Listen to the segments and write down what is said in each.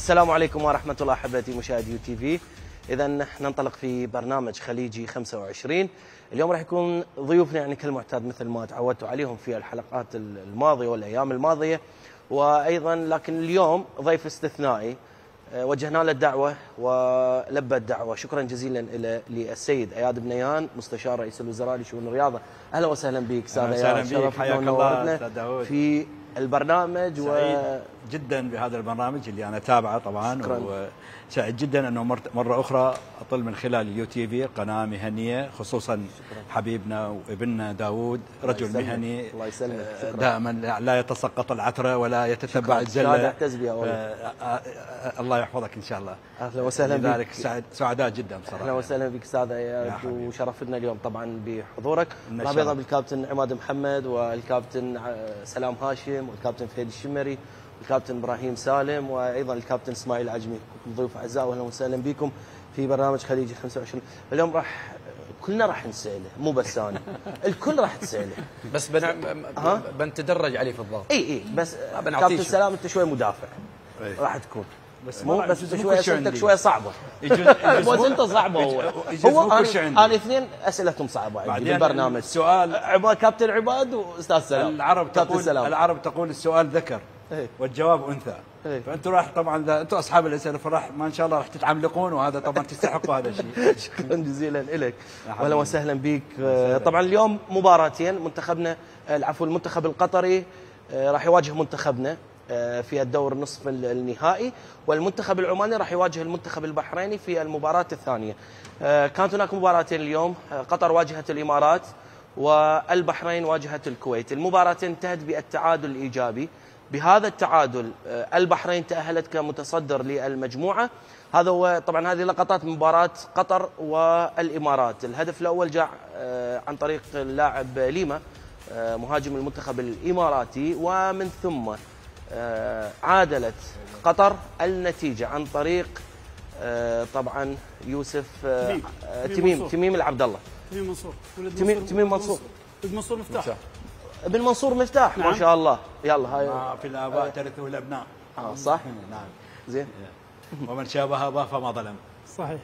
السلام عليكم ورحمة الله أحبتي مشاهدي يو تي في. إذا ننطلق في برنامج خليجي 25. اليوم راح يكون ضيوفنا يعني كالمعتاد مثل ما تعودتوا عليهم في الحلقات الماضية والأيام الماضية، وأيضا لكن اليوم ضيف استثنائي وجهنا له الدعوة ولبى الدعوة. شكرا جزيلا للسيد اياد بنيان مستشار رئيس الوزراء لشؤون الرياضة. أهلا وسهلا بك استاذ اياد. اهلا بك، حياك الله استاذ داوود في البرنامج. سعيد جدا بهذا البرنامج اللي انا تابعه طبعا. شكرا. وسعيد جدا انه مره اخرى اطل من خلال اليو تي في قناه مهنيه، خصوصا شكرا. حبيبنا وابننا داوود رجل مهني الله يسلمك. دائما لا يتسقط العثره ولا يتتبع الزله. الله يحفظك ان شاء الله. اهلا وسهلا بك. لذلك سعداء جدا بصراحه. اهلا وسهلا بك استاذ اياد، وشرفتنا اليوم طبعا بحضورك. رابطه بالكابتن عماد محمد والكابتن سلام هاشم والكابتن فهد الشمري والكابتن ابراهيم سالم وايضا الكابتن اسماعيل العجمي، ضيوف اعزاء واهلا وسهلا بكم في برنامج خليجي 25. اليوم كلنا راح نساله، مو بس انا، الكل راح تساله، بس بنتدرج عليه في الضغط. اي بس كابتن سلام انت شوي مدافع راح تكون، بس مو بس انت شويه اسئلتك شويه صعبه. بس انت صعبه. هو انا اثنين اسئلتهم صعبه عندي بالبرنامج. السؤال كابتن عباد واستاذ سلام. العرب تقول السؤال ذكر والجواب انثى. فانتم راح طبعا انتم اصحاب الاسئله فراح ما ان شاء الله راح تتعملقون، وهذا طبعا تستحقوا هذا الشيء. شكرا جزيلا لك واهلا وسهلا بك. طبعا اليوم مباراتين، منتخبنا العفو المنتخب القطري راح يواجه منتخبنا في الدور نصف النهائي، والمنتخب العماني راح يواجه المنتخب البحريني في المباراة الثانية. كانت هناك مباراتين اليوم، قطر واجهت الإمارات والبحرين واجهت الكويت. المباراة انتهت بالتعادل الإيجابي. بهذا التعادل البحرين تأهلت كمتصدر للمجموعة. هذا هو طبعا هذه لقطات مباراة قطر والإمارات. الهدف الأول جاء عن طريق اللاعب ليما مهاجم المنتخب الإماراتي، ومن ثم عادلت قطر النتيجة عن طريق طبعا يوسف تميم العبد الله. تميم منصور ابن منصور مفتاح. ابن منصور مفتاح. نعم. ما شاء الله. يلا هاي في الآباء ترثه الأبناء. صح. نعم زين. ومن شابه أباه فما ظلم. صحيح.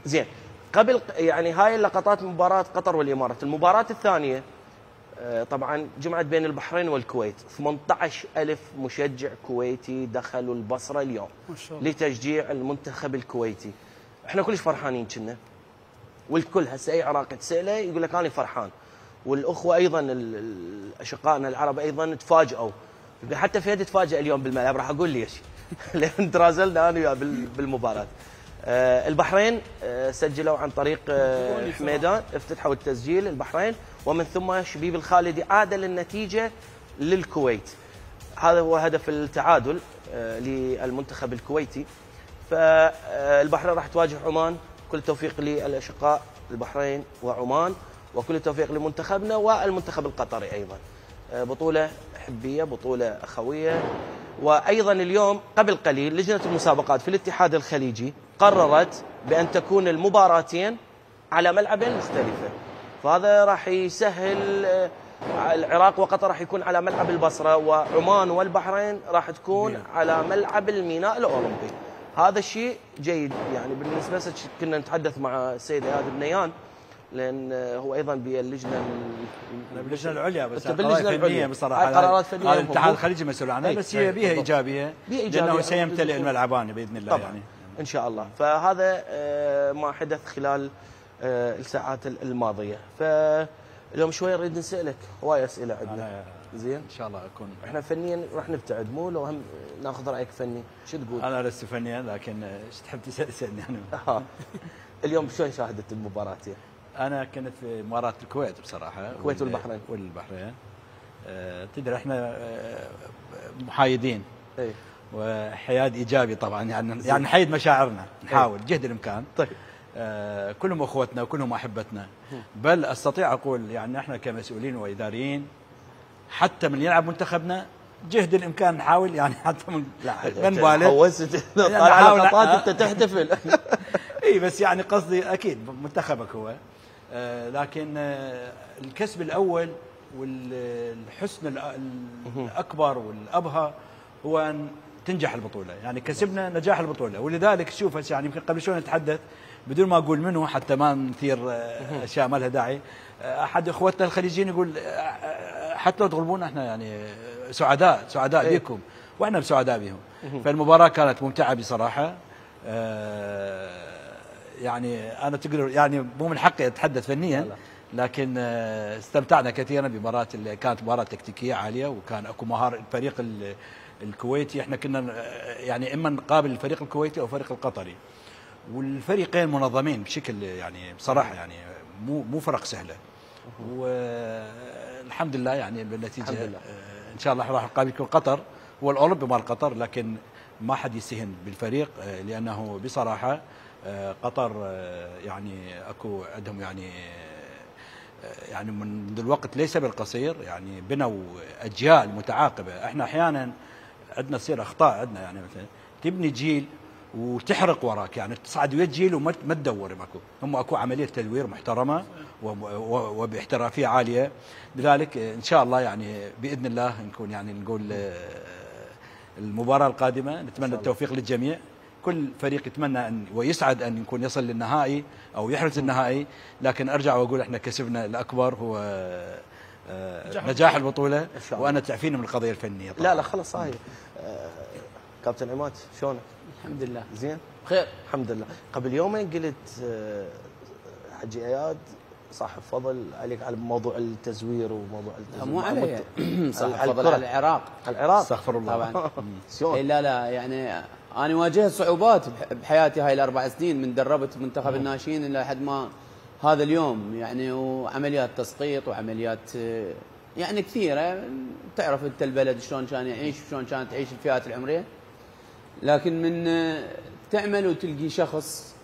زين. قبل يعني هاي اللقطات مباراة قطر والإمارات. المباراة الثانية طبعا جمعت بين البحرين والكويت. 18,000 مشجع كويتي دخلوا البصرة اليوم ما شاء الله لتشجيع المنتخب الكويتي. احنا كلش فرحانين كنا، والكل هسه اي عراقي تساله يقول لك انا فرحان، والاخوه ايضا اشقائنا العرب ايضا تفاجئوا. حتى فهد تفاجئ اليوم بالملعب، راح اقول ليش. لان ترازلنا انا وياه بالمباراه. البحرين سجلوا عن طريق حميدان، افتتحوا التسجيل البحرين، ومن ثم شبيب الخالدي عادل النتيجة للكويت. هذا هو هدف التعادل للمنتخب الكويتي. فالبحرين راح تواجه عمان. كل التوفيق للأشقاء البحرين وعمان، وكل التوفيق لمنتخبنا والمنتخب القطري أيضا. بطولة حبية، بطولة أخوية. وأيضا اليوم قبل قليل لجنة المسابقات في الاتحاد الخليجي قررت بأن تكون المباراتين على ملعبين مختلفة، فهذا راح يسهل. العراق وقطر راح يكون على ملعب البصرة، وعمان والبحرين راح تكون على ملعب الميناء الأولمبي. هذا الشيء جيد يعني بالنسبة. كنا نتحدث مع السيد اياد بنيان لان هو ايضا باللجنه باللجنه العليا، بس باللجنه العليا بصراحه قرارات فنيه الاتحاد الخليجي مسؤول عنها، بس هي بها ايجابيه لانه سيمتلئ الملعبان باذن الله طبعا. يعني ان شاء الله. فهذا ما حدث خلال الساعات الماضيه. فاليوم شوي نريد نسالك هواي اسئله عندنا. زين ان شاء الله اكون احنا فنيا راح نبتعد، مو لو هم ناخذ رايك فني. شو تقول؟ انا لست فنيا لكن ايش تحب تسالني انا؟ اليوم شلون شاهدت المباراه؟ انا كنت في مباراه الكويت بصراحه، الكويت والبحرين. تدري احنا محايدين وحياد ايجابي طبعا، يعني نحيد مشاعرنا، نحاول جهد الامكان. طيب كلهم اخوتنا وكلهم احبتنا، بل استطيع اقول يعني احنا كمسؤولين واداريين حتى من يلعب منتخبنا جهد الامكان نحاول، يعني حتى من لا نبالغ طالع لقطات انت تحتفل. اي بس يعني قصدي اكيد منتخبك هو، لكن الكسب الاول والحسن الاكبر والابهى هو ان تنجح البطوله، يعني كسبنا نجاح البطوله. ولذلك شوف هسه يعني يمكن قبل شوي نتحدث بدون ما اقول منه حتى ما نثير اشياء ما لها داعي. احد اخوتنا الخليجيين يقول حتى لو تغلبونا احنا يعني سعداء بكم، واحنا سعداء بهم. فالمباراه كانت ممتعه بصراحه. يعني انا تقدر يعني مو من حقي اتحدث فنيا، لكن استمتعنا كثيرا بمباراه اللي كانت مباراه تكتيكيه عاليه، وكان اكو مهاره. الفريق الكويتي احنا كنا يعني اما نقابل الفريق الكويتي او الفريق القطري، والفريقين منظمين بشكل يعني بصراحه يعني مو فرق سهله. والحمد لله يعني بالنتيجه ان شاء الله راح نقابلكم قطر، هو الاولمبي مال قطر، لكن ما حد يستهين بالفريق لانه بصراحه قطر يعني اكو عندهم يعني منذ الوقت ليس بالقصير يعني بنوا اجيال متعاقبه. احنا احيانا عندنا تصير اخطاء عندنا، يعني مثلا تبني جيل وتحرق وراك، يعني تصعد ويا الجيل وما تدور ماكو. هم اكو عمليه تدوير محترمه وباحترافيه عاليه. لذلك ان شاء الله يعني باذن الله نكون يعني نقول المباراه القادمه نتمنى التوفيق للجميع. كل فريق يتمنى ان ويسعد ان يكون يصل للنهائي او يحرز النهائي، لكن ارجع واقول احنا كسبنا الاكبر هو نجاح البطوله، وانا تعفيني من القضيه الفنيه طبعا. لا خلص هاي. كابتن عماد شلونك؟ الحمد لله زين بخير الحمد لله. قبل يومين قلت حجي اياد صاحب فضل عليك على موضوع التزوير وموضوع مو علي صاحب فضل على العراق. استغفر الله طبعا. شلون؟ لا يعني انا واجهت صعوبات بحياتي هاي الاربع سنين من دربت منتخب الناشئين الى حد ما هذا اليوم، يعني وعمليات تسقيط وعمليات يعني كثيره. تعرف انت البلد شلون كان يعيش وشلون كانت تعيش الفئات العمريه، لكن من تعمل وتلقي شخص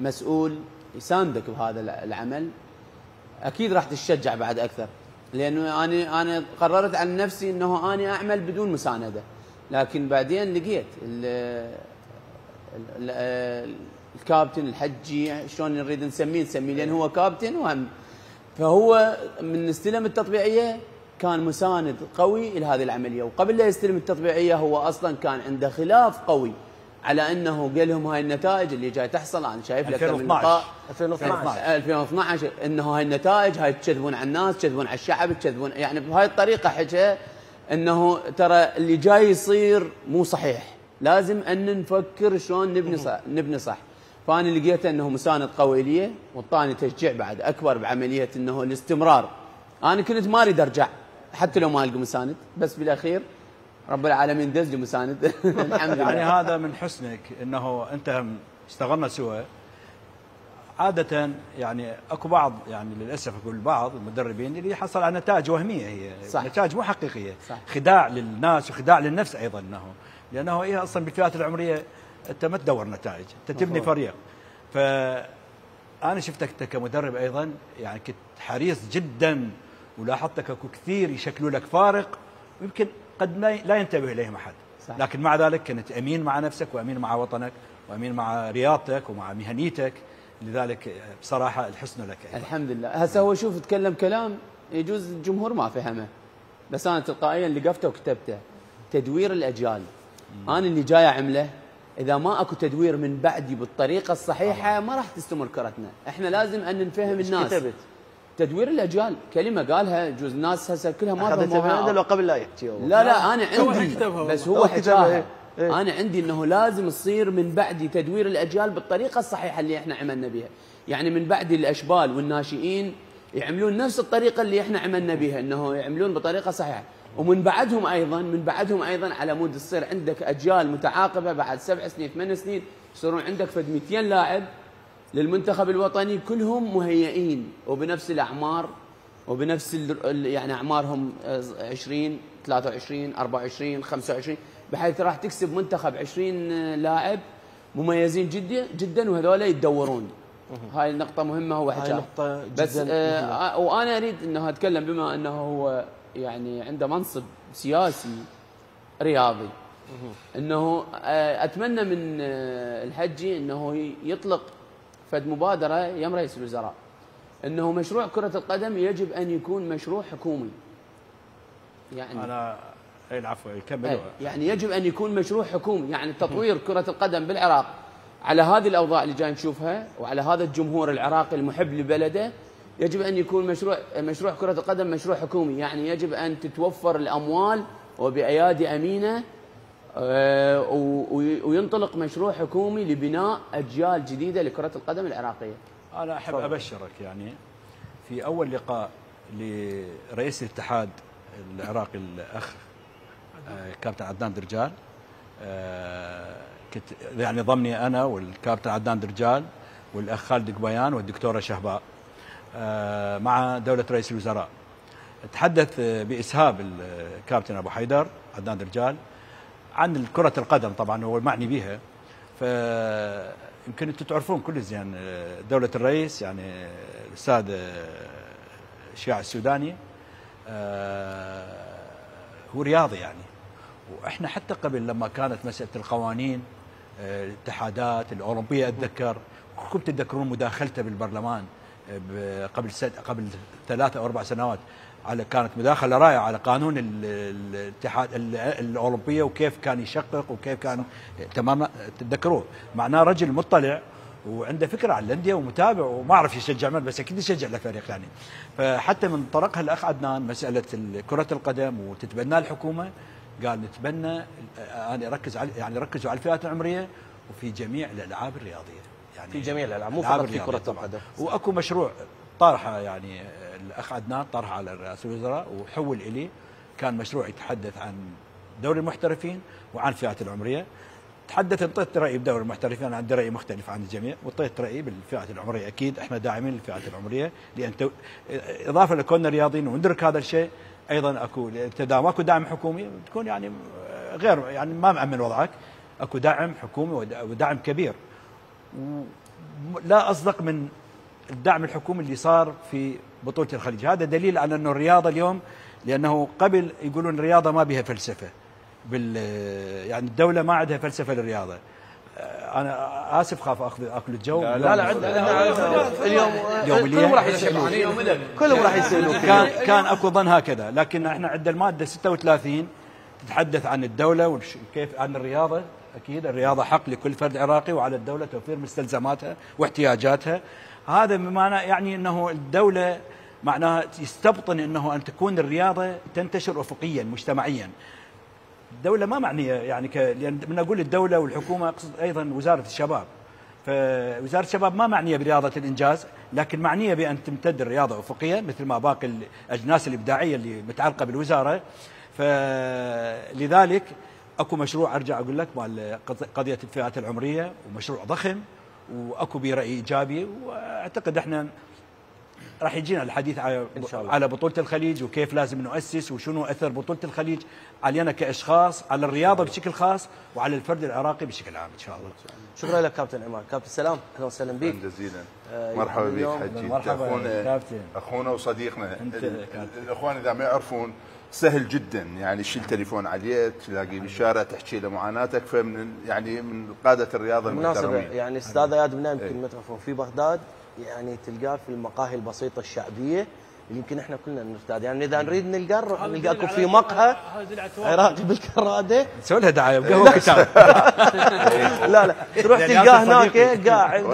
مسؤول يساندك بهذا العمل اكيد راح تتشجع بعد اكثر. لانه انا قررت عن نفسي انه انا اعمل بدون مسانده، لكن بعدين لقيت الكابتن الحجي شلون نريد نسميه لان هو كابتن وهم، فهو من استلم التطبيعيه كان مساند قوي لهذه العمليه. وقبل لا يستلم التطبيعيه هو اصلا كان عنده خلاف قوي على انه قال لهم هاي النتائج اللي جاي تحصل. انا شايف لك 2012 انه هاي النتائج هاي تكذبون على الناس، تكذبون على الشعب، تكذبون يعني بهاي الطريقه. حكى انه ترى اللي جاي يصير مو صحيح، لازم ان نفكر شلون نبني صح. فانا لقيت انه مساند قوي لي وطاني تشجيع بعد اكبر بعمليه انه الاستمرار. انا كنت ما اريد ارجع حتى لو ما القى مساند، بس بالاخير رب العالمين دز لي مساند الحمد لله. يعني هذا من حسنك انه انت اشتغلنا سوا. عادة يعني اكو بعض يعني للاسف اقول بعض المدربين اللي يحصل على نتائج وهميه، هي صح. نتائج مو حقيقيه، صح. خداع للناس وخداع للنفس ايضا، لانه هي اصلا بالفئات العمريه انت ما تدور نتائج، انت تبني فريق. فانا شفتك انت كمدرب ايضا يعني كنت حريص جدا، ولاحظتك اكو كثير يشكلوا لك فارق ويمكن قد لا ينتبه اليهم احد، صح. لكن مع ذلك كنت امين مع نفسك وامين مع وطنك وامين مع رياضتك ومع مهنيتك. لذلك بصراحه الحسن لك أيضا. الحمد لله. هسه هو شوف تكلم كلام يجوز الجمهور ما فهمه، بس انا تلقائيا لقفته وكتبته. تدوير الاجيال انا اللي جاي اعمله، اذا ما اكو تدوير من بعدي بالطريقه الصحيحه ما راح تستمر كرتنا. احنا لازم ان نفهم الناس. كتبت تدوير الاجيال كلمه قالها يجوز الناس هسه كلها ما فهموها لو قبل لا يحكي. لا انا عندي بس هو حكاها. انا عندي انه لازم يصير من بعدي تدوير الاجيال بالطريقه الصحيحه اللي احنا عملنا بها. يعني من بعدي الاشبال والناشئين يعملون نفس الطريقه اللي احنا عملنا بها، انه يعملون بطريقه صحيحه. ومن بعدهم ايضا على مود تصير عندك اجيال متعاقبه بعد 7 سنين 8 سنين يصيرون عندك فد 200 لاعب للمنتخب الوطني كلهم مهيئين وبنفس الاعمار وبنفس يعني اعمارهم 20 23 24 25، بحيث راح تكسب منتخب 20 لاعب مميزين جدا وهذول يتدورون. هاي النقطة مهمة هو حكاها. بس وانا اريد انه اتكلم بما انه هو يعني عنده منصب سياسي رياضي، انه اتمنى من الحجي انه يطلق فد مبادرة يم رئيس الوزراء انه مشروع كرة القدم يجب ان يكون مشروع حكومي. يعني انا اي العفو كملوا. يعني يجب ان يكون مشروع حكومي، يعني تطوير كرة القدم بالعراق على هذه الاوضاع اللي جاي نشوفها وعلى هذا الجمهور العراقي المحب لبلده، يجب ان يكون مشروع كرة القدم مشروع حكومي، يعني يجب ان تتوفر الاموال وبايادي امينه وينطلق مشروع حكومي لبناء اجيال جديده لكرة القدم العراقية. انا احب ابشرك يعني في اول لقاء لرئيس الاتحاد العراقي الاخ كابتن عدنان درجال، كنت يعني ضمني انا والكابتن عدنان درجال والاخ خالد قبيان والدكتوره شهباء مع دوله رئيس الوزراء. تحدث باسهاب الكابتن ابو حيدر عدنان درجال عن كرة القدم، طبعا هو المعني بها، فيمكن انتم تعرفون كل زين دوله الرئيس يعني الاستاذ الشياع السوداني هو رياضي يعني. واحنا حتى قبل لما كانت مساله القوانين الاتحادات الاولمبيه اتذكر كلكم تتذكرون مداخلته بالبرلمان قبل 3 أو 4 سنوات، على كانت مداخله رائعه على قانون الاتحاد الاولمبيه وكيف كان يشقق وكيف كان تتذكروه. معناه رجل مطلع وعنده فكره عن الانديه ومتابع وما اعرف يشجع من، بس اكيد يشجع الفريق يعني. فحتى من طرقها الاخ عدنان مساله كره القدم وتتبنى الحكومه، قال نتبنى انا اركز على يعني ركزوا على الفئات العمريه وفي جميع الالعاب الرياضيه، يعني في جميع الالعاب مو فقط في كره القدم. واكو مشروع طرحه يعني الاخ عدنان طرحه على رئاسه الوزراء وحول الي، كان مشروع يتحدث عن دوري المحترفين وعن الفئات العمريه. تحدث انطيت رايي بدوري المحترفين، انا عندي راي مختلف عن الجميع، وانطيت رايي بالفئات العمريه. اكيد احنا داعمين للفئات العمريه، لان اضافه لكوننا رياضيين وندرك هذا الشيء، ايضا اكو اذا ماكو دعم حكومي تكون يعني غير يعني ما مأمن وضعك، اكو دعم حكومي ودعم كبير. لا اصدق من الدعم الحكومي اللي صار في بطوله الخليج. هذا دليل على انه الرياضه اليوم، لانه قبل يقولون الرياضه ما بها فلسفه يعني الدوله ما عندها فلسفه للرياضه. انا اسف خاف اكل الجو. لا عندنا اليوم كلهم راح يسالون، كلهم راح يسالون. كان اكو ظن هكذا، لكن احنا عندنا الماده 36 تتحدث عن الدوله وكيف عن الرياضه. اكيد الرياضه حق لكل فرد عراقي، وعلى الدوله توفير مستلزماتها واحتياجاتها. هذا بمعنى يعني انه الدوله معناها يستبطن انه ان تكون الرياضه تنتشر افقيا مجتمعيا. الدوله ما معنيه يعني لان من اقول الدوله والحكومه اقصد ايضا وزاره الشباب. فوزاره الشباب ما معنيه برياضه الانجاز، لكن معنيه بان تمتد الرياضه افقيا مثل ما باقي الاجناس الابداعيه اللي متعلقه بالوزاره. فلذلك اكو مشروع ارجع اقول لك مال قضيه الفئات العمريه، ومشروع ضخم واكو به راي ايجابي. واعتقد احنا راح يجينا الحديث على بطوله الخليج وكيف لازم نؤسس وشنو اثر بطوله الخليج علينا كاشخاص، على الرياضه بشكل خاص وعلى الفرد العراقي بشكل عام ان شاء الله. شكرا لك كابتن عماد. كابتن سلام، اهلا وسهلا بك. جزيلا. مرحبا بك حجي. مرحبا اخونا وصديقنا. الاخوان اذا ما يعرفون سهل جدا يعني تشيل تليفون عليه تلاقيه بالشارع تحكي له معاناتك، فمن يعني من قاده الرياضه المحترمين. يعني استاذ اياد بن يمكن ما تعرفون في بغداد يعني تلقاه في المقاهي البسيطه الشعبيه اللي يمكن احنا كلنا نرتاد، يعني اذا نريد نلقاكم في مقهى عراقي بالكراده نسوي لها دعايه بقهوه كتاب. لا تروح تلقاه هناك قاعد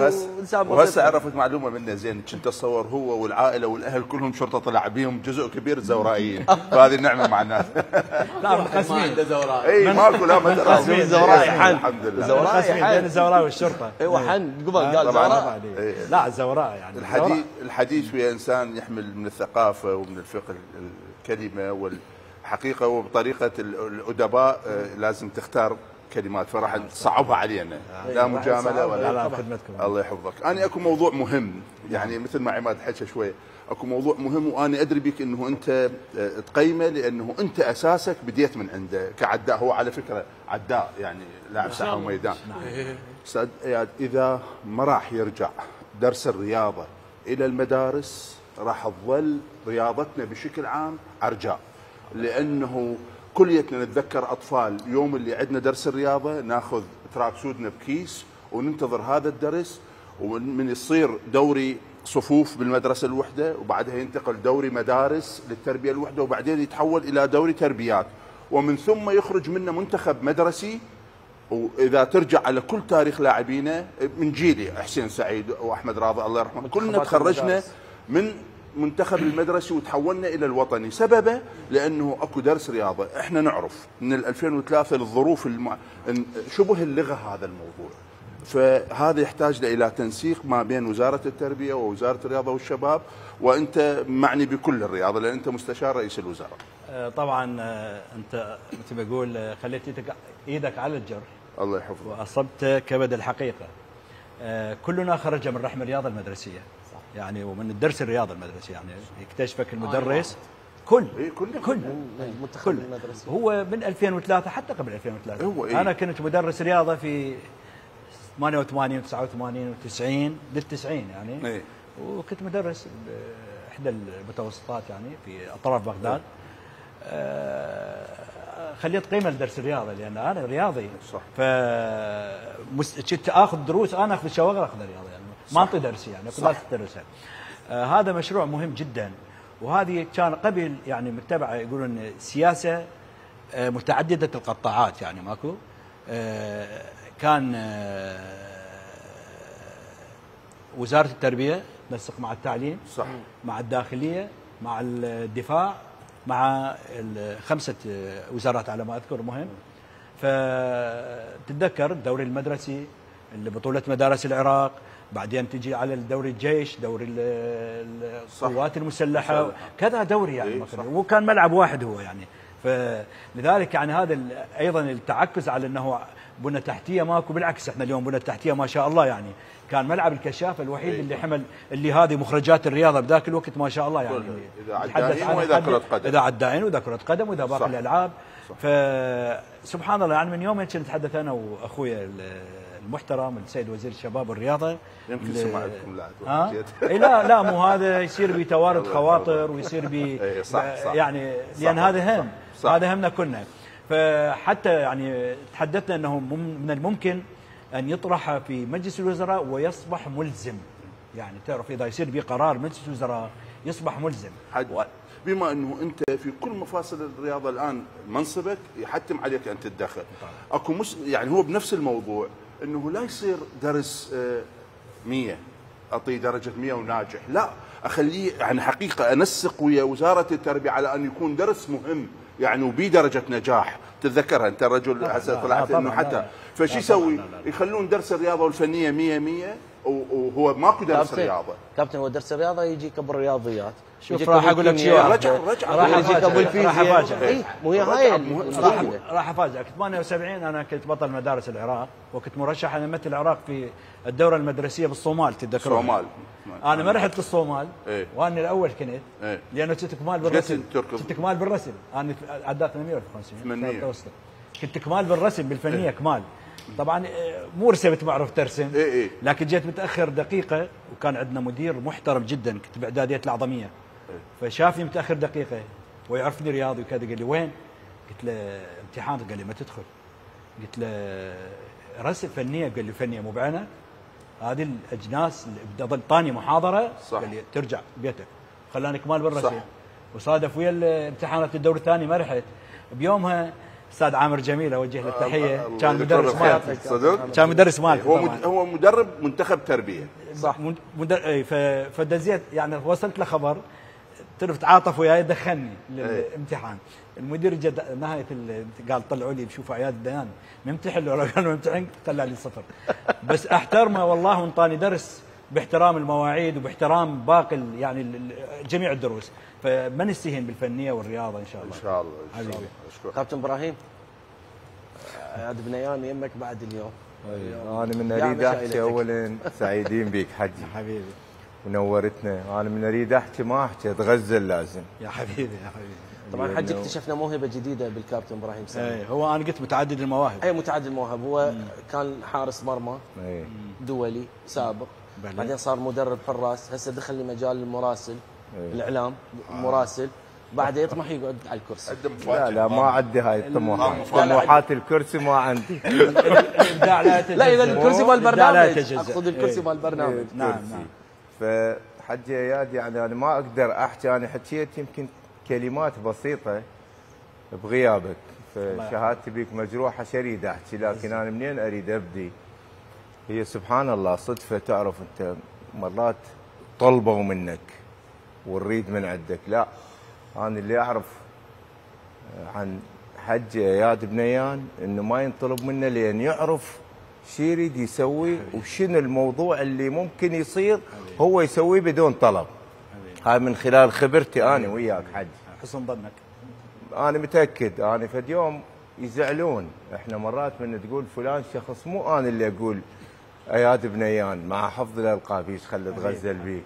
وهسه عرفت معلومه منه زين، كنت اتصور هو والعائله والاهل كلهم شرطه طلع بيهم جزء كبير زورائيين، فهذه النعمه مع الناس. لا مقسمين اي ماكو لا ما مقسمين زورائي حن الحمد لله، زورائي بين الزوراء والشرطه. ايوه حن قبل قال زوراء. لا الزوراء يعني الحديث ويا انسان يحمل من الثقافه ومن الفقه الكلمه والحقيقه، وبطريقه الادباء لازم تختار كلمات، فراح تصعبها علينا. لا مجامله ولا خدمتكم. الله يحفظك. انا اكو موضوع مهم يعني مثل ما عماد حكى شوي، اكو موضوع مهم وانا ادري بك انه انت تقيمه، لانه انت اساسك بديت من عنده كعداء. هو على فكره عداء يعني لاعب ساحه وميدان. استاذ اياد، اذا ما راح يرجع درس الرياضه الى المدارس راح تظل رياضتنا بشكل عام عرجاء، لانه كليتنا نتذكر اطفال يوم اللي عندنا درس الرياضه ناخذ تراك سودنا بكيس وننتظر هذا الدرس، ومن يصير دوري صفوف بالمدرسه الوحده، وبعدها ينتقل دوري مدارس للتربيه الوحده، وبعدين يتحول الى دوري تربيات، ومن ثم يخرج منه منتخب مدرسي. واذا ترجع على كل تاريخ لاعبينا من جيلي حسين سعيد واحمد راضي الله يرحمه، كلنا تخرجنا من منتخب المدرسي وتحولنا الى الوطني. سببه لانه اكو درس رياضه. احنا نعرف من 2003 الظروف شبه اللغه هذا الموضوع، فهذا يحتاج الى تنسيق ما بين وزاره التربيه ووزاره الرياضه والشباب، وانت معني بكل الرياضه لان انت مستشار رئيس الوزراء. طبعا انت مثل ما اقول خليت ايدك على الجرح، الله يحفظك، واصبت كبد الحقيقه. كلنا خرج من رحم الرياضه المدرسيه، صح. يعني ومن الدرس الرياضه المدرسيه، يعني يكتشفك المدرس كل المنتخب المدرسي. هو من 2003 حتى قبل 2003 انا كنت مدرس رياضه في 88 و89 و90 لل90 يعني وكنت مدرس باحدى المتوسطات يعني في اطراف بغداد. خليت قيمه لدرس الرياضه لان انا رياضي، صح. كنت اخذ دروس، انا اخذ الشواغر اخذ الرياضه يعني ما اعطي درس يعني كنت ادرسها. هذا مشروع مهم جدا، وهذه كان قبل يعني متبعه يقولون سياسه متعدده القطاعات يعني ماكو. كان وزاره التربيه تنسق مع التعليم، صح، مع الداخليه، مع الدفاع، مع الخمسه وزارات على ما اذكر مهم. فتتذكر الدوري المدرسي اللي بطوله مدارس العراق، بعدين تجي على الدوري الجيش، دوري القوات المسلحه، كذا دوري يعني وكان ملعب واحد هو يعني. فلذلك يعني هذا ايضا التعكز على انه بنى تحتيه ماكو، بالعكس احنا اليوم بنى تحتيه ما شاء الله يعني. كان ملعب الكشاف الوحيد اللي حمل اللي هذه مخرجات الرياضه بذاك الوقت ما شاء الله يعني. اذا عدائين واذا كره قدم، اذا عدائين واذا كره قدم واذا باقي الالعاب. فسبحان الله يعني من يومين كنت اتحدث انا واخويا المحترم السيد وزير الشباب والرياضه، يمكن سمع لكم لاعب لا مو هذا يصير بتوارد خواطر ويصير يعني لان هذا هم، هذا همنا كلنا. فحتى يعني تحدثنا انه من الممكن ان يطرح في مجلس الوزراء ويصبح ملزم، يعني تعرف اذا يصير بقرار مجلس الوزراء يصبح ملزم. بما انه انت في كل مفاصل الرياضه الان منصبك يحتم عليك ان تتدخل. اكو يعني هو بنفس الموضوع انه لا يصير درس 100 اعطيه درجه 100 وناجح، لا اخليه يعني حقيقه انسق ويا وزاره التربيه على ان يكون درس مهم يعني وبي درجه نجاح. تتذكرها انت الرجل هسه طلعت انه حتى فشي يسوي يخلون درس الرياضه والفنيه 100 وهو ماكو درس رياضه. كابتن هو درس الرياضه يجيك ابو الرياضيات. شوف راح اقول لك شيء، راح يجيك ابو الفيزياء. مو هي هاي راح افاجئك. 78 انا كنت بطل مدارس العراق وكنت مرشح انا امثل العراق في الدوره المدرسيه بالصومال، تتذكرون؟ الصومال انا ما رحت للصومال وانا الاول كنت لانه كنت كمال بالرسم. كنت كمال بالرسم، انا عدات 850 كنت كمال بالرسم بالفنيه كمال. طبعا مو رسمت معروف ترسم، لكن جيت متاخر دقيقه وكان عندنا مدير محترم جدا، كنت باعداديه الاعظميه، فشافني متاخر دقيقه ويعرفني رياضي وكذا، قال لي وين؟ قلت له امتحان. قال لي ما تدخل. قلت له رسم فنيه. قال لي فنيه مو بعينك، هذه الاجناس اللي طاني محاضره. قال لي ترجع بيتك. خلاني كمال بالرسم. وصادف ويا الامتحانات الدور الثاني ما رحت. بيومها استاذ عامر جميل اوجه له التحيه، كان مدرس مالك، كان مدرس مالك، هو مدرب منتخب تربيه، صح. فدزيت يعني وصلت له خبر، تعاطف وياي دخلني للامتحان. المدير جد نهايه قال طلعوا لي بشوفوا عياد الديان ممتحن ولا قال ممتحن، طلع لي 0. بس احترمه والله وانطاني درس باحترام المواعيد وباحترام باقي يعني جميع الدروس. فما نستهين بالفنيه والرياضه ان شاء الله. ان شاء الله حبيبي. كابتن ابراهيم عاد بنيان يمك بعد اليوم. انا من اريد احكي اولا سعيدين بيك حجي حبيبي ونورتنا. انا من اريد احكي ما احكي اتغزل لازم. يا حبيبي يا حبيبي. طبعا حجي اكتشفنا موهبه جديده بالكابتن ابراهيم سامي. هو انا قلت متعدد المواهب. متعدد المواهب. هو كان حارس مرمى دولي سابق، بعدين صار مدرب حراس، هسه دخل لمجال المراسل، الاعلام مراسل، بعدين يطمح يقعد على الكرسي. لا ما عندي هاي الطموحات، طموحات الكرسي ما عندي. لا اذا الكرسي مال البرنامج، اقصد الكرسي مال البرنامج. نعم. فحجي اياد يعني انا ما اقدر احكي، انا حكيت يمكن كلمات بسيطه بغيابك، فشهادتي بيك مجروحه شريد احكي، لكن انا منين اريد ابدي؟ هي سبحان الله صدفه. تعرف انت مرات طلبوا منك ونريد من عندك، لا انا اللي اعرف عن حج اياد بنيان انه ما ينطلب منه لان يعرف شو يريد يسوي وشنو الموضوع اللي ممكن يصير هو يسويه بدون طلب. هاي من خلال خبرتي انا وياك حج. حسن ظنك. انا متاكد انا فد يوم يزعلون احنا مرات من تقول فلان شخص، مو انا اللي اقول اياد بنيان مع حفظ الالقاب ايش خلي اتغزل بيه.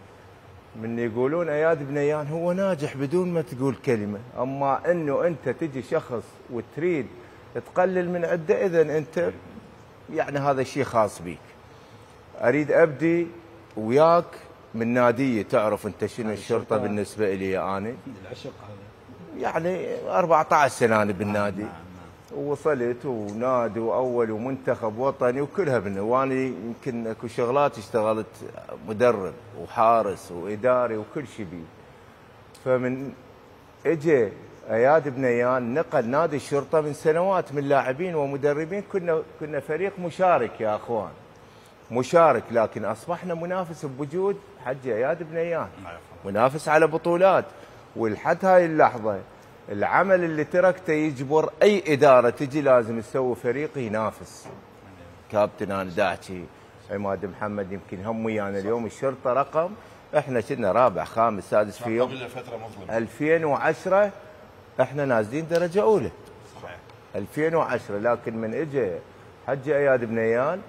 من يقولون اياد بنيان هو ناجح بدون ما تقول كلمه، اما انه انت تجي شخص وتريد تقلل من عده، اذا انت يعني هذا شيء خاص بيك. اريد ابدي وياك من ناديه. تعرف انت شنو الشرطه بالنسبه لي انا؟ العشق هذا يعني 14 سنه انا بالنادي. ووصلت ونادي واول ومنتخب وطني وكلها وانا يمكن اكو شغلات اشتغلت مدرب وحارس واداري وكل شيء بي. فمن اجى اياد بنيان نقل نادي الشرطه من سنوات من لاعبين ومدربين، كنا فريق مشارك يا اخوان، مشارك، لكن اصبحنا منافس بوجود حج اياد بنيان، منافس على بطولات. ولحد هاي اللحظه العمل اللي تركته يجبر اي اداره تجي لازم تسوي فريق ينافس. كابتن انا داحكي عماد محمد يمكن هم ويانا اليوم الشرطه رقم، احنا كنا رابع خامس سادس في يوم 2010 احنا نازلين درجه اولى. صحيح 2010، لكن من اجى حج اياد بنيان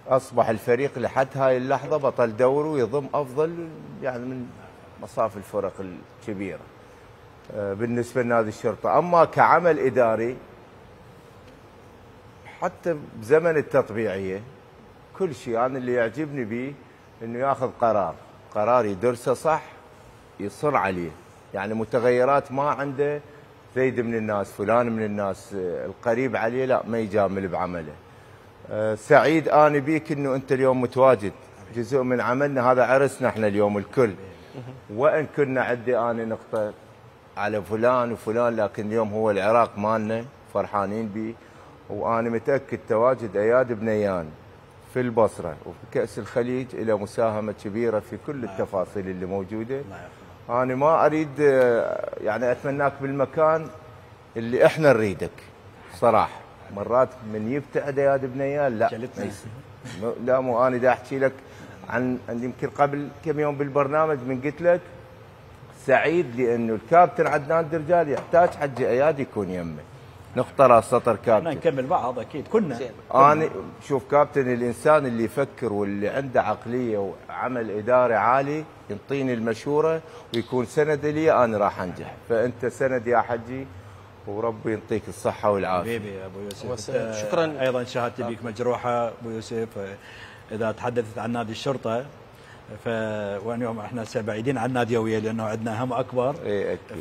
اصبح الفريق لحد هاي اللحظه بطل دوري ويضم افضل يعني من مصاف الفرق الكبيره بالنسبه لنادي الشرطه. اما كعمل اداري حتى بزمن التطبيعيه كل شيء انا اللي يعجبني به انه ياخذ قرار يدرسه صح يصر عليه، يعني متغيرات ما عنده زيد من الناس فلان من الناس القريب عليه لا ما يجامل بعمله. سعيد انا بيك انه انت اليوم متواجد، جزء من عملنا هذا عرسنا احنا اليوم الكل، وان كنا عندي انا نقطه على فلان وفلان، لكن اليوم هو العراق مالنا فرحانين به. وانا متاكد تواجد اياد بنيان في البصره وفي كاس الخليج له مساهمه كبيره في كل التفاصيل اللي موجوده. انا ما اريد يعني اتمناك بالمكان اللي احنا نريدك صراحه. مرات من يبتعد اياد بنيان لا لا مو انا دا احكي لك عن يمكن قبل كم يوم بالبرنامج من قلت لك سعيد لانه الكابتن عدنان درجال يحتاج حج اياد يكون يمه. نقطه راس سطر كابتن. نكمل بعض اكيد كنا. انا شوف كابتن الانسان اللي يفكر واللي عنده عقليه وعمل اداري عالي ينطيني المشوره ويكون سند لي انا راح انجح، فانت سند يا حجي وربي يعطيك الصحه والعافيه. حبيبي يا ابو يوسف شكرا. ايضا شهادتي بيك مجروحه ابو يوسف. اذا تحدثت عن نادي الشرطه واليوم احنا بعيدين عن الناديويه لانه عندنا هم اكبر.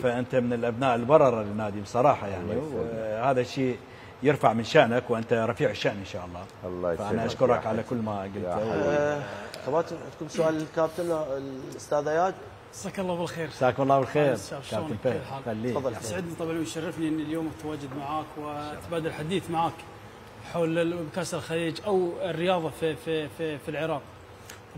فانت من الابناء البرره للنادي بصراحه يعني، وهذا الشيء يرفع من شانك وانت رفيع الشان ان شاء الله. الله يسلمك. فانا اشكرك على كل ما قلته. كابتن عندكم سؤال للكابتن الاستاذ اياد؟ مساك الله بالخير. مساك الله بالخير كابتن فهد. تفضل. يسعدني طبعا ويشرفني ان اليوم اتواجد معاك واتبادل الحديث معاك حول كاس الخليج او الرياضه في العراق.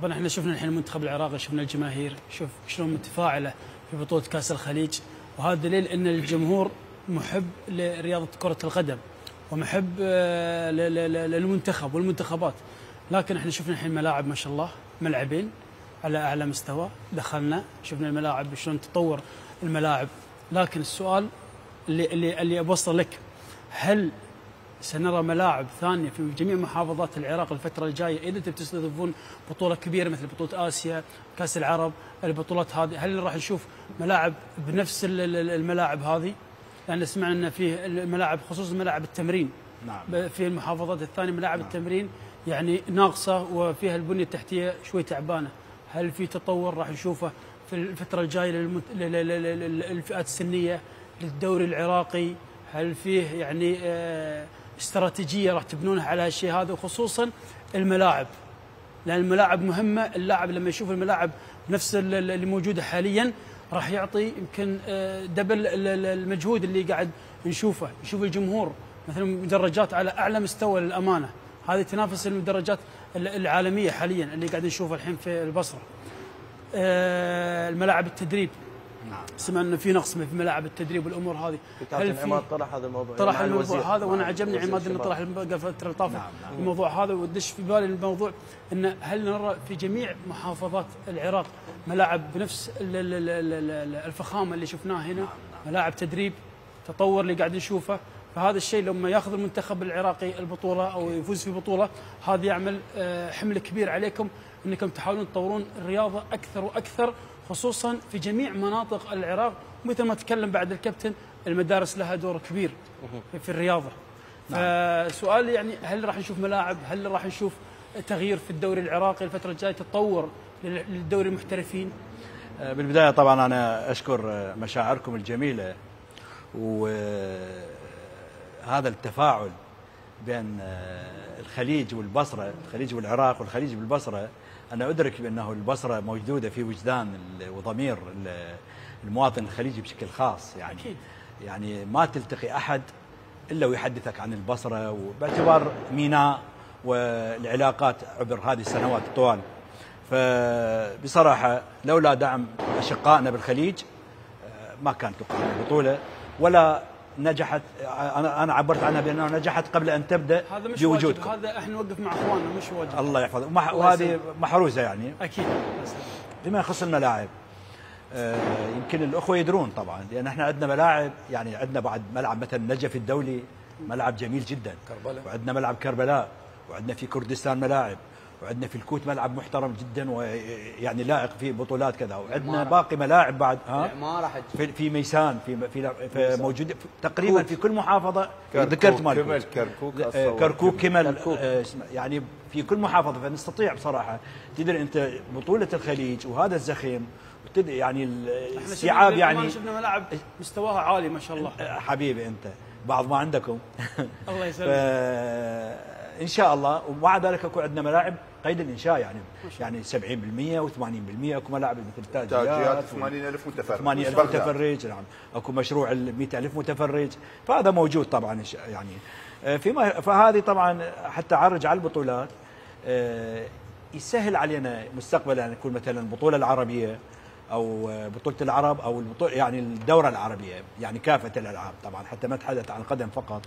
طبعا احنا شفنا الحين المنتخب العراقي، شفنا الجماهير، شوف شلون متفاعله في بطوله كاس الخليج، وهذا دليل ان الجمهور محب لرياضه كره القدم ومحب للمنتخب والمنتخبات. لكن احنا شفنا الحين ملاعب ما شاء الله، ملعبين على اعلى مستوى، دخلنا شفنا الملاعب شلون تطور الملاعب. لكن السؤال اللي ابوصل لك، هل سنرى ملاعب ثانيه في جميع محافظات العراق الفتره الجايه اذا انتم تستضيفون بطوله كبيره مثل بطوله اسيا، كاس العرب، البطولات هذه، هل راح نشوف ملاعب بنفس الملاعب هذه؟ لان سمعنا ان فيه الملاعب خصوصا ملاعب التمرين. نعم. في المحافظات الثانيه ملاعب التمرين يعني ناقصه وفيها البنيه التحتيه شوي تعبانه. هل في تطور راح نشوفه في الفتره الجايه للفئات السنيه للدوري العراقي؟ هل فيه يعني استراتيجيه راح تبنونها على هالشيء هذا، وخصوصا الملاعب؟ لان الملاعب مهمه، اللاعب لما يشوف الملاعب نفس اللي موجوده حاليا راح يعطي يمكن دبل المجهود اللي قاعد نشوف الجمهور مثلا مدرجات على اعلى مستوى للامانه، هذه تنافس المدرجات العالميه حاليا اللي قاعد نشوفها الحين في البصره. الملاعب التدريب، سمعنا انه في نقص في ملاعب التدريب والامور هذه. هل عماد طرح هذا الموضوع؟ طرح الموضوع هذا، وانا عجبني عماد انه طرح الفتره اللي طافت الموضوع هذا، ودش في بالي الموضوع انه هل نرى في جميع محافظات العراق ملاعب بنفس الفخامه اللي شفناها هنا، ملاعب تدريب، تطور اللي قاعد نشوفه. فهذا الشيء لما ياخذ المنتخب العراقي البطوله او يفوز في بطوله، هذا يعمل حمل كبير عليكم انكم تحاولون تطورون الرياضه اكثر واكثر، خصوصا في جميع مناطق العراق. مثل ما تكلم بعد الكابتن، المدارس لها دور كبير في الرياضه. فسؤال يعني هل راح نشوف ملاعب؟ هل راح نشوف تغيير في الدوري العراقي الفتره الجايه، تطور للدوري المحترفين؟ بالبدايه طبعا انا اشكر مشاعركم الجميله، وهذا التفاعل بين الخليج والبصره، الخليج والعراق والخليج بالبصره. أنا أدرك بأنه البصرة موجودة في وجدان وضمير المواطن الخليجي بشكل خاص، يعني أكيد. يعني ما تلتقي أحد إلا ويحدثك عن البصرة، وباعتبار ميناء والعلاقات عبر هذه السنوات الطوال. فبصراحة لولا دعم أشقائنا بالخليج ما كانت تقام البطولة، ولا نجحت. انا عبرت عنها بانها نجحت قبل ان تبدا بوجودكم. هذا احنا نوقف مع اخواننا، مش واجب. الله يحفظه. وهذه محروزه يعني. اكيد. بما يخص الملاعب، يمكن الاخوه يدرون طبعا، لان احنا عندنا ملاعب، يعني عندنا بعد ملعب مثلا نجف الدولي، ملعب جميل جدا، كربلاء، وعندنا ملعب كربلاء، وعندنا في كردستان ملاعب، وعندنا في الكوت ملعب محترم جدا ويعني لائق في بطولات كذا، وعندنا باقي ملاعب بعد. في ميسان، في موجود تقريبا في كل محافظه. ذكرت مال كركوك كمل، يعني في كل محافظه. فنستطيع بصراحه، تدري انت بطوله الخليج وهذا الزخم، يعني الاستيعاب، يعني شفنا ملاعب مستواها عالي ما شاء الله. حبيبي انت بعض ما عندكم. الله يسلمك. ان شاء الله. ومع ذلك اكو عندنا ملاعب قيد الانشاء، يعني 70% و80%. اكو ملاعب مثل تاجيات 80,000 متفرج، 80,000 متفرج. نعم. اكو مشروع 100,000 متفرج، فهذا موجود طبعا يعني. فهذه طبعا حتى اعرج على البطولات يسهل علينا مستقبلا ان نكون مثلا البطوله العربيه او بطوله العرب او يعني الدوره العربيه، يعني كافه الالعاب طبعا، حتى ما نتحدث عن القدم فقط.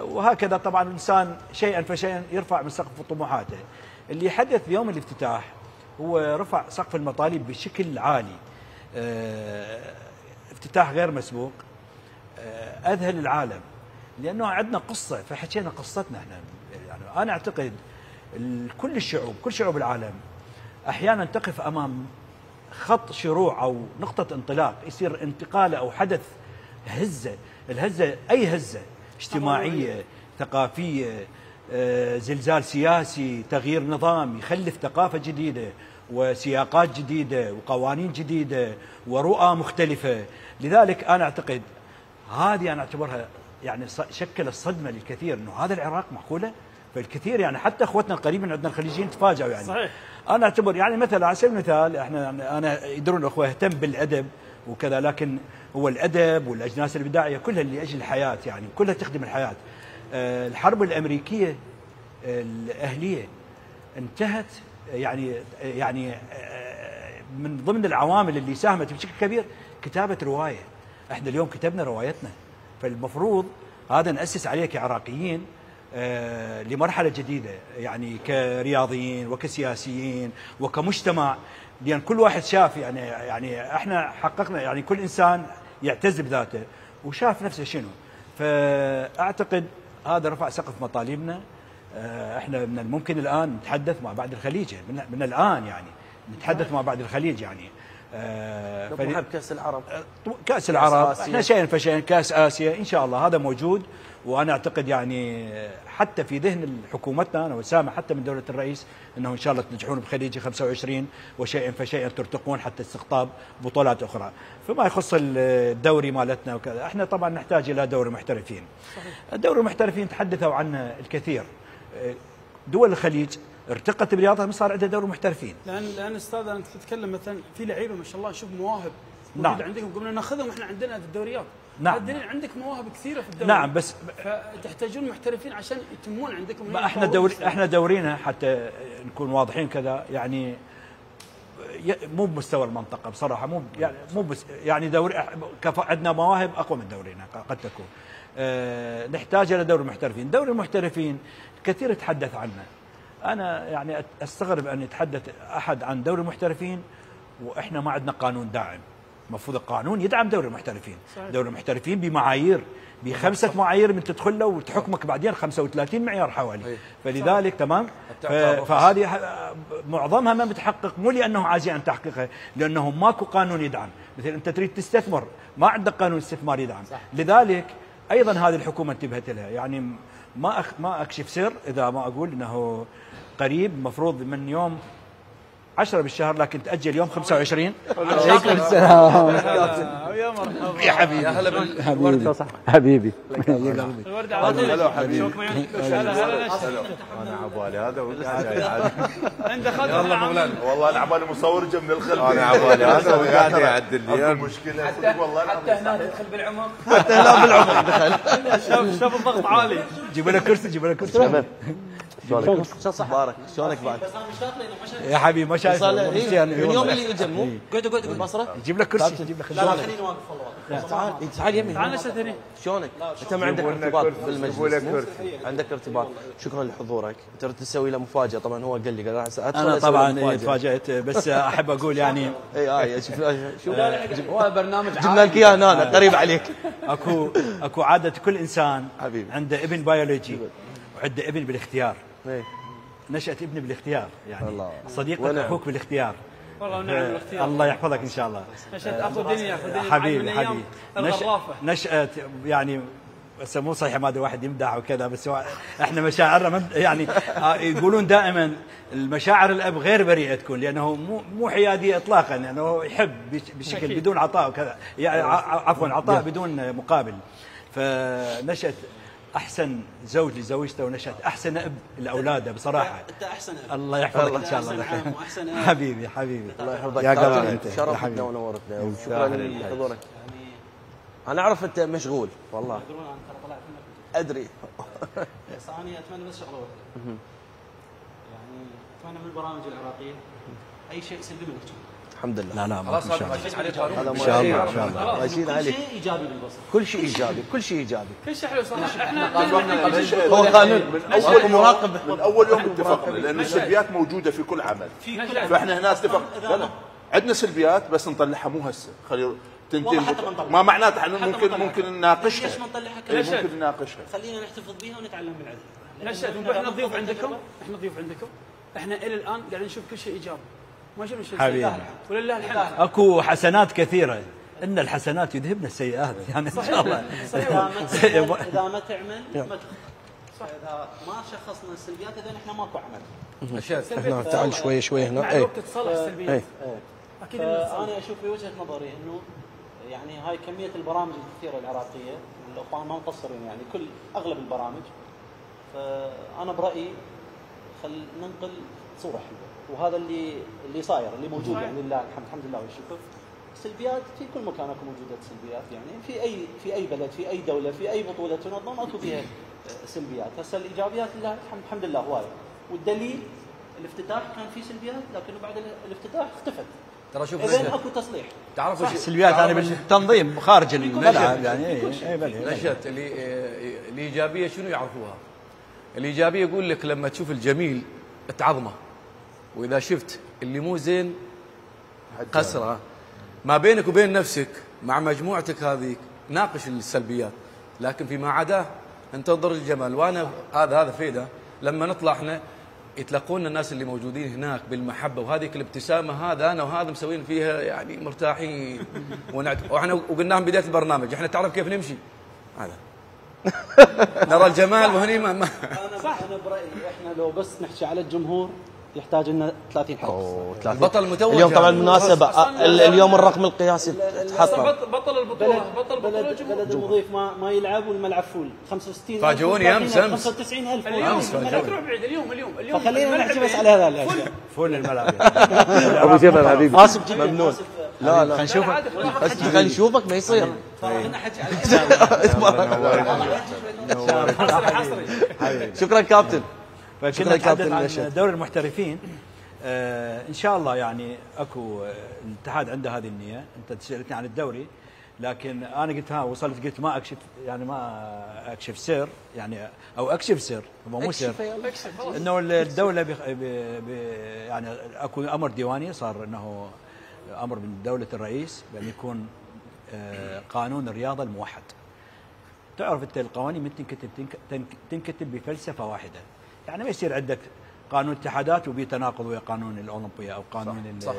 وهكذا طبعا الانسان شيئا فشيئا يرفع من سقف طموحاته. اللي حدث بيوم الافتتاح هو رفع سقف المطالب بشكل عالي. افتتاح غير مسبوق، اذهل العالم، لانه عندنا قصه، فحكينا قصتنا احنا. يعني انا اعتقد كل الشعوب، كل شعوب العالم احيانا تقف امام خط شروع او نقطه انطلاق، يصير انتقاله او حدث هزه. الهزه اي هزه اجتماعيه، ثقافيه، زلزال سياسي، تغيير نظام يخلف ثقافه جديده وسياقات جديده وقوانين جديده ورؤى مختلفه. لذلك انا اعتقد هذه انا اعتبرها يعني شكلت صدمه للكثير، انه هذا العراق معقوله؟ فالكثير يعني حتى اخوتنا القريبين عندنا الخليجيين تفاجئوا يعني. صحيح. انا اعتبر يعني مثلا على سبيل المثال انا يدرون الاخوه اهتم بالادب وكذا، لكن هو الادب والاجناس الابداعيه كلها لاجل الحياه، يعني كلها تخدم الحياه. الحرب الامريكيه الاهليه انتهت يعني من ضمن العوامل اللي ساهمت بشكل كبير كتابه روايه. احنا اليوم كتبنا روايتنا، فالمفروض هذا ناسس عليه كعراقيين لمرحله جديده، يعني كرياضيين وكسياسيين وكمجتمع، لان كل واحد شاف يعني احنا حققنا، يعني كل انسان يعتز بذاته وشاف نفسه شنو. فاعتقد هذا رفع سقف مطالبنا. احنا من الممكن الان نتحدث مع بعض الخليج، من الان يعني نتحدث مع بعض الخليج يعني. كاس العرب، كاس العرب احنا شيئا فشيئا، كاس اسيا ان شاء الله هذا موجود. وانا اعتقد يعني حتى في ذهن حكومتنا انا وسامع حتى من دوله الرئيس انه ان شاء الله تنجحون بخليجي 25 وشيئا فشيئا ترتقون حتى استقطاب بطولات اخرى. فما يخص الدوري مالتنا وكذا، احنا طبعا نحتاج الى دوري محترفين. الدوري المحترفين تحدثوا عنه الكثير. دول الخليج ارتقت برياضها، صار عندها دوري محترفين. لان استاذ انا تتكلم مثلا في لعيبه ما شاء الله، شوف مواهب نعم. عندكم قمنا ناخذهم احنا عندنا في الدوريات. نعم. الدليل عندك مواهب كثيره في الدوري. نعم بس فتحتاجون محترفين عشان يتمون عندكم. ما احنا دورينا حتى نكون واضحين كذا يعني مو بمستوى المنطقه بصراحه، مو بس يعني دوري عندنا مواهب اقوى من دورينا قد تكون. نحتاج الى دوري المحترفين، دوري المحترفين كثير يتحدث عنه. انا يعني استغرب ان يتحدث احد عن دوري المحترفين واحنا ما عندنا قانون داعم. المفروض القانون يدعم دوري المحترفين. صحيح. دوري المحترفين بمعايير، ب5 معايير من تدخل له وتحكمك بعدين 35 معيار حوالي. فلذلك تمام، فهذه معظمها ما بتحقق، مو لانه عاجزين عن تحقيقها، لانه ماكو قانون يدعم. مثل انت تريد تستثمر ما عندك قانون استثمار يدعم. صح. لذلك ايضا هذه الحكومه انتبهت لها. يعني ما اكشف سر اذا ما اقول انه قريب مفروض من يوم 10 بالشهر لكن تأجل يوم 25. عليكم السلام يا مرحبا يا حبيبي. يا هلا بالورد. صح حبيبي. الورد هلا حبيبي. انا عبالي هذا عنده خاطر. يلا مولانا. والله انا عبالي مصور جنب الخلف. انا عبالي هذا وقاعد يعدل لي مشكله والله حتى هنا تدخل بالعمق. حتى هنا بالعمق دخل. شوف الضغط عالي. جيب له كرسي، جيب له كرسي. شلونك؟ مبارك، شلونك بعد؟ يا حبيبي ما شايف من اليوم اللي اجى مو قعدوا البصره. جيب لك كرسي، جيب لك لا خليني واقف والله. تعال يمي. تعال نشهد هنا. شلونك؟ انت ما عندك ارتباط بالمجلس؟ عندك ارتباط. شكرا لحضورك. انت تسوي له مفاجاه. طبعا هو قال لي قال انا طبعا تفاجأت، بس احب اقول يعني شوف هو برنامج جبنا لك اياه هنا قريب عليك. اكو عاده كل انسان حبيبي عنده ابن بيولوجي وعنده ابن بالاختيار. ايه نشأت ابني بالاختيار، يعني الله. صديقك اخوك بالاختيار. والله ونعم الاختيار. الله يحفظك ان شاء الله. نشأت اخو دنيا حبيبي حبيبي. الغرافه. نشأت يعني بس مو صحيح ما واحد يمدح وكذا، بس احنا مشاعرنا يعني يقولون دائما المشاعر الاب غير بريئه تكون، لانه مو حياديه اطلاقا، لانه يعني يحب بشكل بدون عطاء وكذا، يعني عفوا عطاء بدون مقابل. فنشأت احسن زوج لزوجته ونشأت احسن اب لاولاده بصراحه. انت احسن اب. الله يحفظك ان شاء الله. واحسن اب. حبيبي الله يحفظك يا قلبي انت شرفتنا ونورتنا وشكرا لحضورك. انا اعرف انت مشغول والله. ادري. بس انا اتمنى بس شغله واحده. يعني اتمنى من البرامج العراقيه اي شيء سلبي منك. الحمد لله. لا خلاص هذا ماشيين عليه قانون. ان شاء الله ان شاء الله. ماشيين عليه. كل شيء ايجابي بالبصر. كل شيء ايجابي، كل شيء ايجابي. كل شيء حلو صح. احنا هو قانون اول مراقب من اول يوم اتفقنا، لان السلبيات موجوده في كل عمل. فاحنا هنا اتفقنا عندنا سلبيات بس نطلعها مو هسه، خلي تنتهي. ما معناته احنا ممكن نناقشها. ليش ما نطلعها ممكن نناقشها. خلينا نحتفظ بها ونتعلم من عندها. نشأت احنا ضيوف عندكم، احنا الى الان قاعدين نشوف كل شيء ايجابي. ما شفنا شيء حبيبي. ولله الحمد. اكو حسنات كثيره، ان الحسنات يذهبن السيئات، يعني ان شاء الله. اذا ما تعمل ما صح. اذا ما شخصنا السلبيات اذا احنا ماكو عمل. هنا تعال شوي هنا. مع الوقت تصلح السلبيات. اكيد انا اشوف في وجهه نظري انه يعني هاي كميه البرامج الكثيره العراقيه، الاخوان ما مقصرين يعني اغلب البرامج. فانا برايي خل ننقل صوره حلوه، وهذا اللي صاير اللي موجود يعني لله الحمد لله والشكر. السلبيات في كل مكان اكو موجوده سلبيات، يعني في اي بلد في اي دوله في اي بطوله تنظم اكو فيها سلبيات. هسه الايجابيات لله الحمد لله هوايه، والدليل الافتتاح كان في سلبيات لكنه بعد الافتتاح اختفت. ترى شوف اذا اكو تصليح. تعرفوا السلبيات انا بالتنظيم خارج الملعب يعني اي نشأت الايجابيه شنو يعرفوها؟ الايجابيه يقول لك لما تشوف الجميل تعظمه، واذا شفت اللي مو زين قسره. ما بينك وبين نفسك مع مجموعتك هذيك ناقش السلبيات، لكن فيما عداه انتظر الجمال. وانا هذا فيده لما نطلع احنا يتلقون الناس اللي موجودين هناك بالمحبه، وهذيك الابتسامه هذا انا وهذا مسوين فيها يعني مرتاحين. واحنا وقلناهم بدايه البرنامج احنا تعرف كيف نمشي هذا نرى الجمال وهني ما انا برايي احنا لو بس نحكي على الجمهور يحتاج لنا 30 حرف. بطل متوج اليوم طبعا المناسبه اليوم الرقم القياسي تحطم. بطل البطوله بلد المضيف ما يلعب والملعب فول 65 فاجئوني امس 95,000 تروح بعيد اليوم فخلينا نحكي بس على هذا الاشياء. فول الملعب ابو جبل حبيبي اسف ممنون. لا خلينا نشوفك خلينا نشوفك ما يصير. خلينا نحكي شكرا كابتن. فكنا نتحدث عن دوري المحترفين. ان شاء الله يعني اكو الاتحاد عنده هذه النيه. انت سالتني عن الدوري لكن انا قلت قلت ما اكشف يعني ما اكشف سر يعني او اكشف سر هو مو سر انه الدوله يعني اكو امر ديواني صار انه امر من دوله الرئيس بان يكون قانون الرياضه الموحد. تعرف انت القوانين من تنكتب بفلسفه واحده يعني ما يصير عندك قانون اتحادات وبي تناقض ويا قانون الاولمبيه او قانون صح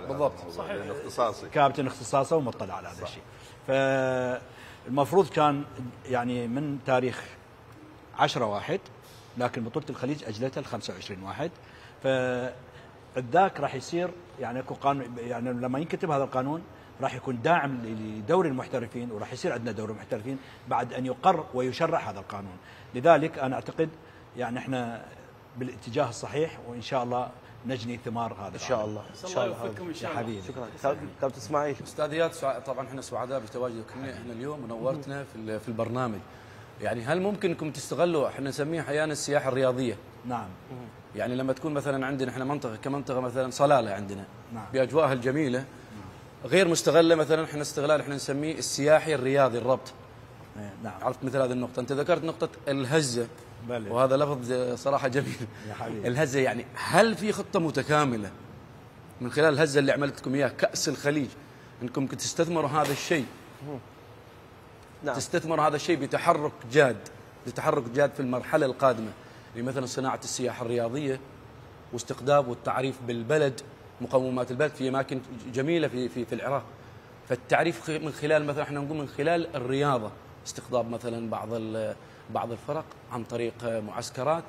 بالضبط صحيح اختصاصي كابتن اختصاصه ومطلع على هذا الشيء. فالمفروض كان يعني من تاريخ 10/1 لكن بطوله الخليج اجلتها ل 25/1 فالذاك راح يصير يعني اكو قانون يعني لما ينكتب هذا القانون راح يكون داعم لدوري المحترفين وراح يصير عندنا دوري المحترفين بعد ان يقر ويشرع هذا القانون. لذلك انا اعتقد يعني احنا بالاتجاه الصحيح وان شاء الله نجني ثمار هذا ان شاء الله. ان شاء الله يا حبيبي. شكرا كابتن اسماعيل. استاذ اياد طبعا احنا سعداء بتواجدك احنا اليوم ونورتنا في البرنامج. يعني هل ممكن انكم تستغلوا احنا نسميه احيانا السياحه الرياضيه؟ نعم. يعني لما تكون مثلا عندنا احنا منطقه كمنطقه مثلا صلاله عندنا نعم. باجواءها الجميله غير مستغله مثلا احنا استغلال احنا نسميه السياحي الرياضي الربط. نعم. عرفت مثل هذه النقطه انت ذكرت نقطه الهزه بلي. وهذا لفظ صراحه جميل يا حبيبي. الهزه يعني هل في خطه متكامله من خلال الهزه اللي عملتكم اياها كاس الخليج انكم تستثمروا هذا الشيء؟ نعم. تستثمروا هذا الشيء بتحرك جاد في المرحله القادمه مثلا صناعه السياحه الرياضيه واستقطاب والتعريف بالبلد مقومات البلد في اماكن جميله في العراق. فالتعريف من خلال مثلا احنا نقول من خلال الرياضه استقطاب مثلا بعض الفرق عن طريق معسكرات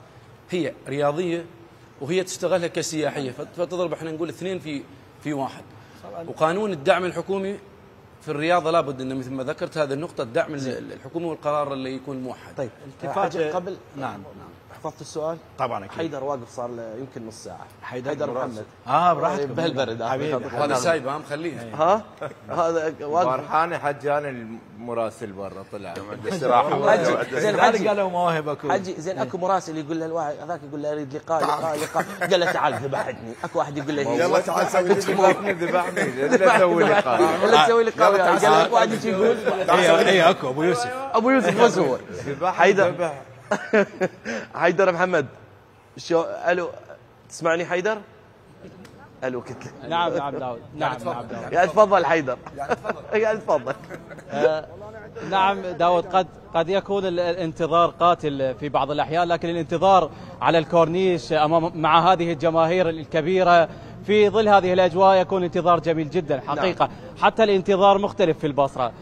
هي رياضيه وهي تستغلها كسياحيه فتضرب احنا نقول اثنين في واحد. وقانون الدعم الحكومي في الرياضه لابد انه مثل ما ذكرت هذه النقطه الدعم الحكومي والقرار اللي يكون موحد. طيب التفات قبل نعم حفظت السؤال؟ طبعا اكيد. حيدر واقف صار له يمكن نص ساعه. حيدر محمد براحتك بهالبرد هذا سايبه مخليه ها هذا واقف. فرحاني حجان المراسل برا طلع زين حجي قالوا مواهب اكو حجي زين اكو مراسل يقول له الواحد هذاك يقول له اريد لقاء قال له تعال ذبحتني. اكو واحد يقول له يلا تعال سوي ذبحني لا تسوي لقاء ولا تسوي لقاء قال لك واحد يقول اي اكو ابو يوسف بس هو حيدر محمد شو الو تسمعني حيدر؟ الو قلت لك نعم داود نعم داود يا تفضل حيدر يا تفضل. نعم داود قد يكون الانتظار قاتل في بعض الأحيان لكن الانتظار على الكورنيش مع هذه الجماهير الكبيرة في ظل هذه الأجواء يكون انتظار جميل جدا حقيقة. حتى الانتظار مختلف في البصرة.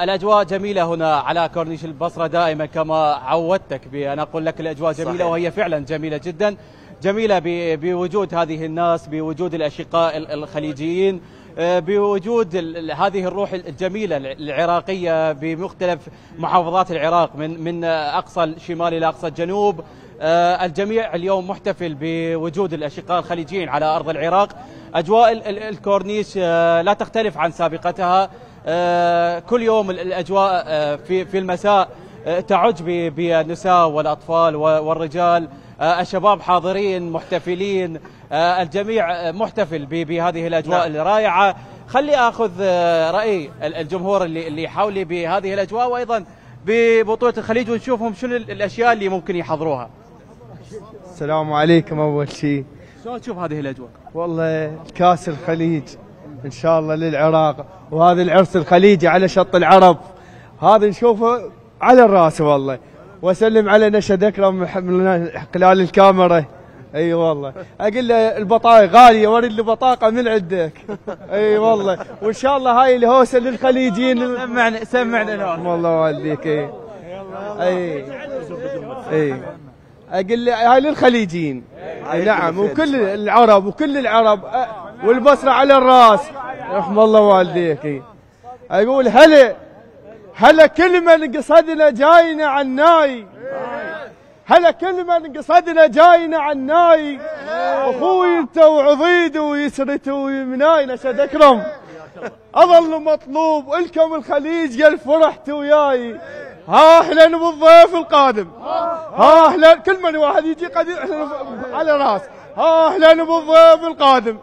الأجواء جميلة هنا على كورنيش البصرة دائما كما عودتك أنا أقول لك الأجواء جميلة صحيح. وهي فعلا جميلة جدا جميلة بوجود هذه الناس بوجود الأشقاء الخليجيين بوجود هذه الروح الجميلة العراقية بمختلف محافظات العراق من أقصى الشمال إلى أقصى الجنوب. الجميع اليوم محتفل بوجود الأشقاء الخليجيين على أرض العراق. أجواء الكورنيش لا تختلف عن سابقتها. كل يوم الأجواء في المساء تعج بالنساء والأطفال والرجال. الشباب حاضرين محتفلين. الجميع محتفل بهذه الأجواء الرائعة. خلي أخذ رأي الجمهور اللي حولي بهذه الأجواء وأيضا ببطولة الخليج ونشوفهم شنو الأشياء اللي ممكن يحضروها. السلام عليكم. أول شيء شلون تشوف هذه الأجواء؟ والله كاس الخليج إن شاء الله للعراق وهذا العرس الخليجي على شط العرب هذا نشوفه على الراس والله. وأسلم على نشد أكرم من خلال الكاميرا. اي والله اقول له البطاقه غاليه ورد لي بطاقه من عندك. اي والله وان شاء الله هاي الهوسه للخليجيين. سمعنا والله والديك. اي اقول له هاي للخليجيين نعم، وكل العرب والبصره على الراس، رحم الله والديك. اقول هلا كل من قصدنا جاينا عناي، هلا كل من قصدنا جاينا عناي، اخوي انت وعضيد ويسرت ويمناي. نشد اكرم اظل مطلوب الكم الخليج قال فرحت وياي. ها اهلا بالضيف القادم، ها اهلا كل من واحد يجي قد على راس. ها اهلا بالضيف القادم،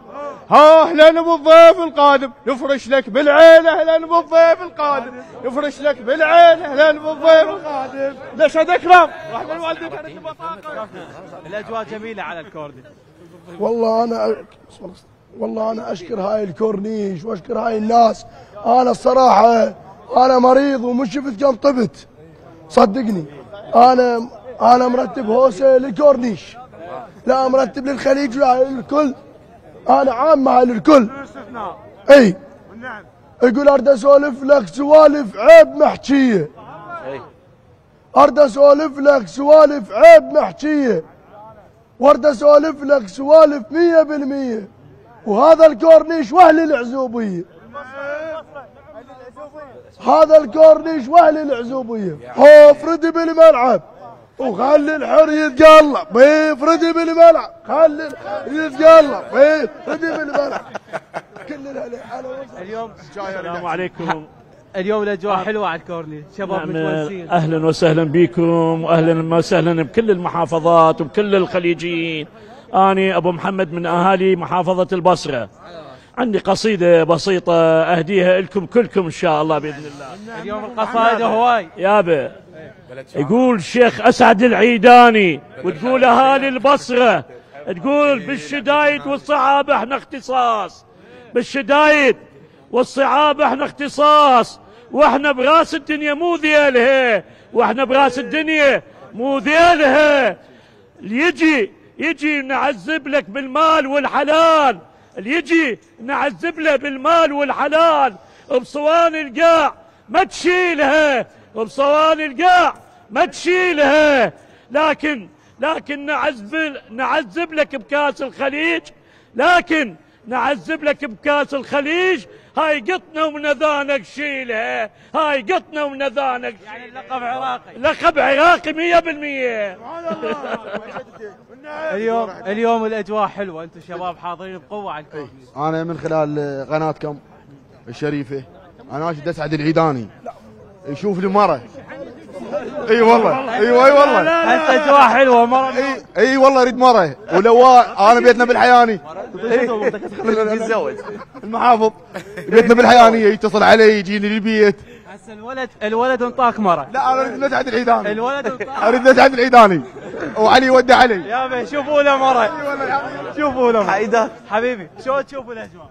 ها اهلا بالضيف القادم، نفرش لك بالعين اهلا بالضيف القادم، نفرش لك بالعين اهلا بالضيف القادم. نشهد اكرم رحمه الوالدين كانت بطاقه. الاجواء جميله على الكورنيش. والله انا اشكر هاي الكورنيش واشكر هاي الناس. انا الصراحه انا مريض ومش شفت كم طبت، صدقني. انا مرتب هوسه للكورنيش، لا مرتب للخليج للكل، انا عامه للكل. اي يقول اريد اسولف لك سوالف عيب محكيه، اريد اسولف لك سوالف عيب محكيه، واريد اسولف لك سوالف 100%. وهذا الكورنيش واهل العزوبيه، هذا الكورنيش واهل العزوبيه. افردي بالملعب وخلي الحر يتقلب، افردي بالملعب خلي يتقلب، افردي بالملعب. كل اليوم السلام عليكم. اليوم الاجواء حلوه على الكورنيش، شباب متونسين. اهلا وسهلا بكم واهلا وسهلا بكل المحافظات وبكل الخليجيين. أنا أبو محمد من أهالي محافظة البصرة. عندي قصيدة بسيطة أهديها لكم كلكم إن شاء الله بإذن الله. اليوم القصائد هواي يابا. يقول شيخ أسعد العيداني وتقول أهالي البصرة، تقول بالشدايد والصعاب احنا اختصاص، بالشدايد والصعاب احنا اختصاص، واحنا براس الدنيا مو ذيلها، واحنا براس الدنيا مو ذيلها. اللي يجي نعذب لك بالمال والحلال، اللي يجي نعذب له بالمال والحلال، بصوان القاع ما تشيلها، بصوان القاع ما تشيلها. لكن نعذب لك بكاس الخليج، لكن نعذب لك بكاس الخليج. هاي قطنا ومنذانك شيلها، هاي قطنا ومنذانك. يعني اللقب عراقي، لقب عراقي 100%. اليوم الاجواء حلوه، انتم شباب حاضرين بقوه على الكورنيش. انا من خلال قناتكم الشريفه انا اشد اسعد العيداني يشوف لي مره. اي والله اي والله اجواء حلوه مره. اي والله اريد مره. ولو انا بيتنا بالحياني يتزوج المحافظ، بيتنا بالحيانيه يتصل علي يجيني للبيت. هسه الولد انطاك مره. لا انا اريد نسعد العيداني، الولد انطاك، اريد نسعد العيداني وعلي ودع علي. يابا شوفوا له مره، شوفوا له حيدر حبيبي. شو تشوفوا الاجواء؟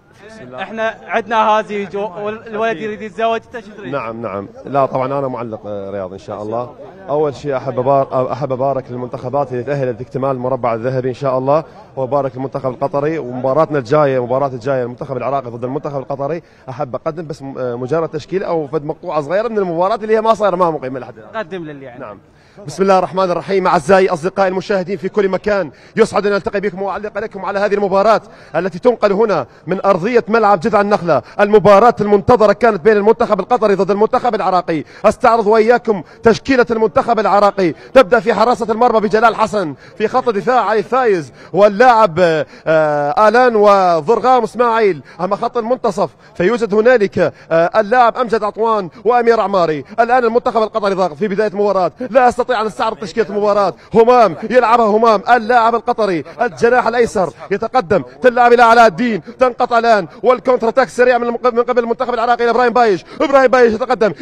احنا عندنا هذه والولد يريد يتزوج، انت شو تريد؟ نعم. لا طبعا انا معلق رياضي ان شاء الله. اول شيء احب ابارك للمنتخبات اللي تاهلت لاكتمال المربع الذهبي ان شاء الله، وابارك للمنتخب القطري. ومباراتنا الجايه المنتخب العراقي ضد المنتخب القطري، احب اقدم بس مجرد تشكيل او فد مقطوعه صغيره من المباراه اللي هي ما صايره ما مقيمه لحد الان. قدم للي يعني. نعم. بسم الله الرحمن الرحيم. أعزائي أصدقائي المشاهدين في كل مكان، يسعد أن نلتقي بكم وأعلق لكم على هذه المباراة التي تنقل هنا من أرضية ملعب جذع النخلة. المباراة المنتظرة كانت بين المنتخب القطري ضد المنتخب العراقي. أستعرض وإياكم تشكيلة المنتخب العراقي. تبدأ في حراسة المرمى بجلال حسن، في خط الدفاع علي فايز واللاعب آلان وضرغام اسماعيل. أما خط المنتصف فيوجد هنالك اللاعب أمجد عطوان وأمير عماري. الآن المنتخب القطري ضاغط في بداية المباراة، لا أستطيع أن استعرض تشكيلة المباراة. همام يلعبها همام اللاعب القطري. الجناح الأيسر يتقدم تلعب إلى علاء الدين، تنقطع الآن والكونتر اتاك سريع من قبل المنتخب العراقي إلى إبراهيم بايش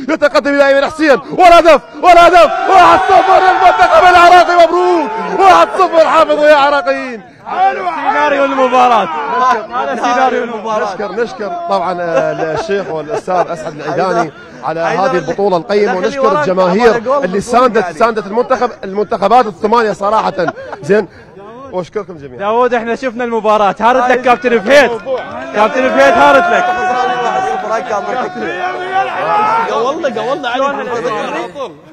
يتقدم إلى أيمن حسين والهدف 1-0 للمنتخب العراقي. مبروك 1-0. حافظوا يا عراقيين. سيناريو المباراة، هذا سيناريو المباراة. نشكر طبعا الشيخ والأستاذ أسعد العيداني على هذه البطولة القيمة، ونشكر الجماهير اللي ساندت المنتخبات الثمانية صراحة. زين، واشكركم جميعا. داوود احنا شفنا المباراة، هارت لك كابتن فهيد، هارت لك. الفراق كان ضحك قولنا علي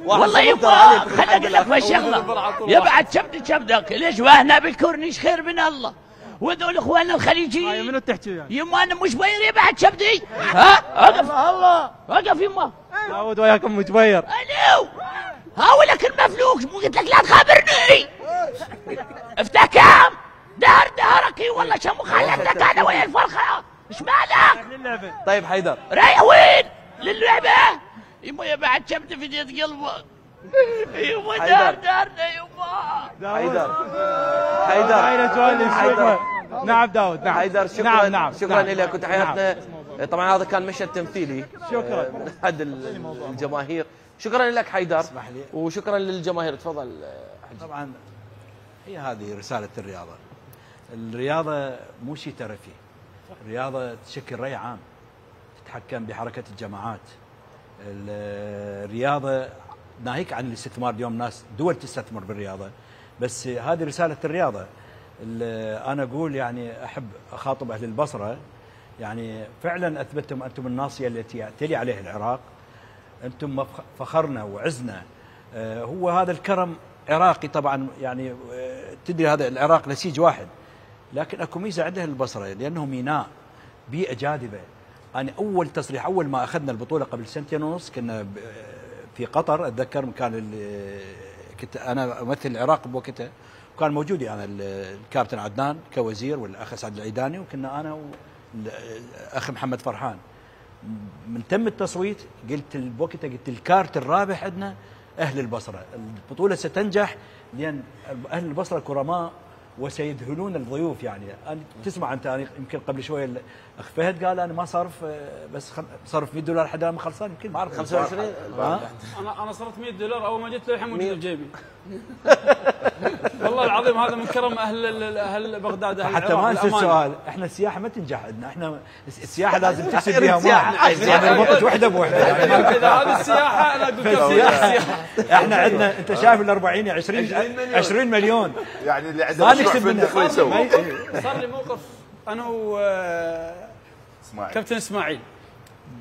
والله يبا خليني اقول لك بهالشغله يبعد كبدك ليش واحنا بالكورنيش خير من الله وذول اخواننا الخليجيين منو تحكي يعني؟ يما انا مش بير يبعد كبدي ها وقف الله وقف يما داود وياكم متبير الو هاولك المفلوك مو قلت لك لا تخابرني افتح كام دهرك والله شمو خلتك انا ويا الفرخه ايش مالك؟ طيب حيدر رايح وين؟ للعبه؟ يما يبعد كبدي في يد قلبه يما دارنا يما حيدر نعم داود نعم حيدر شكرا نعم شكرا لك وتحياتنا. طبعا هذا كان مشهد تمثيلي شكرا من احد الجماهير. شكرا لك حيدر وشكرا للجماهير. تفضل. طبعا هي هذه رسالة الرياضة. الرياضة مو شيء ترفيه، الرياضة تشكل رأي عام، تتحكم بحركة الجماعات. الرياضة ناهيك عن الاستثمار، اليوم ناس دول تستثمر بالرياضة، بس هذه رسالة الرياضة. أنا أقول يعني أحب أخاطب أهل البصرة، يعني فعلا أثبتتم أنتم الناصية التي يعتلي عليها العراق، أنتم فخرنا وعزنا. هو هذا الكرم عراقي طبعا، يعني تدري هذا العراق نسيج واحد، لكن اكو ميزه عندها البصره لانه ميناء، بيئه جاذبه. انا اول تصريح اول ما اخذنا البطوله قبل سنتين ونص كنا في قطر، اتذكر كان كنت انا امثل العراق بوقتها، وكان موجود يعني الكابتن عدنان كوزير والاخ سعد العيداني، وكنا انا والاخ محمد فرحان. من تم التصويت قلت بوقتها قلت الكارت الرابح عندنا أهل البصرة، البطولة ستنجح لأن أهل البصرة كرماء وسيذهلون الضيوف. يعني تسمع أنت يمكن قبل شوية الأخ فهد قال أنا ما صرف بس صرف $100 حدا ما خلصان، يمكن ما أعرف 25. أنا صرفت $100 أول ما جيت للحين موجود بجيبي. والله العظيم هذا من كرم أهل بغداد. حتى ما ننسى السؤال، احنا السياحة ما تنجح عندنا، احنا السياحة لازم تكسب بها مال، يعني ربطت وحدة بوحدة. إذا هذه السياحة أنا أقول السياحة. احنا عندنا أنت شايف ال40 20 مليون، يعني اللي ما عنده نكسب منه. صار لي موقف أنا كابتن إسماعيل،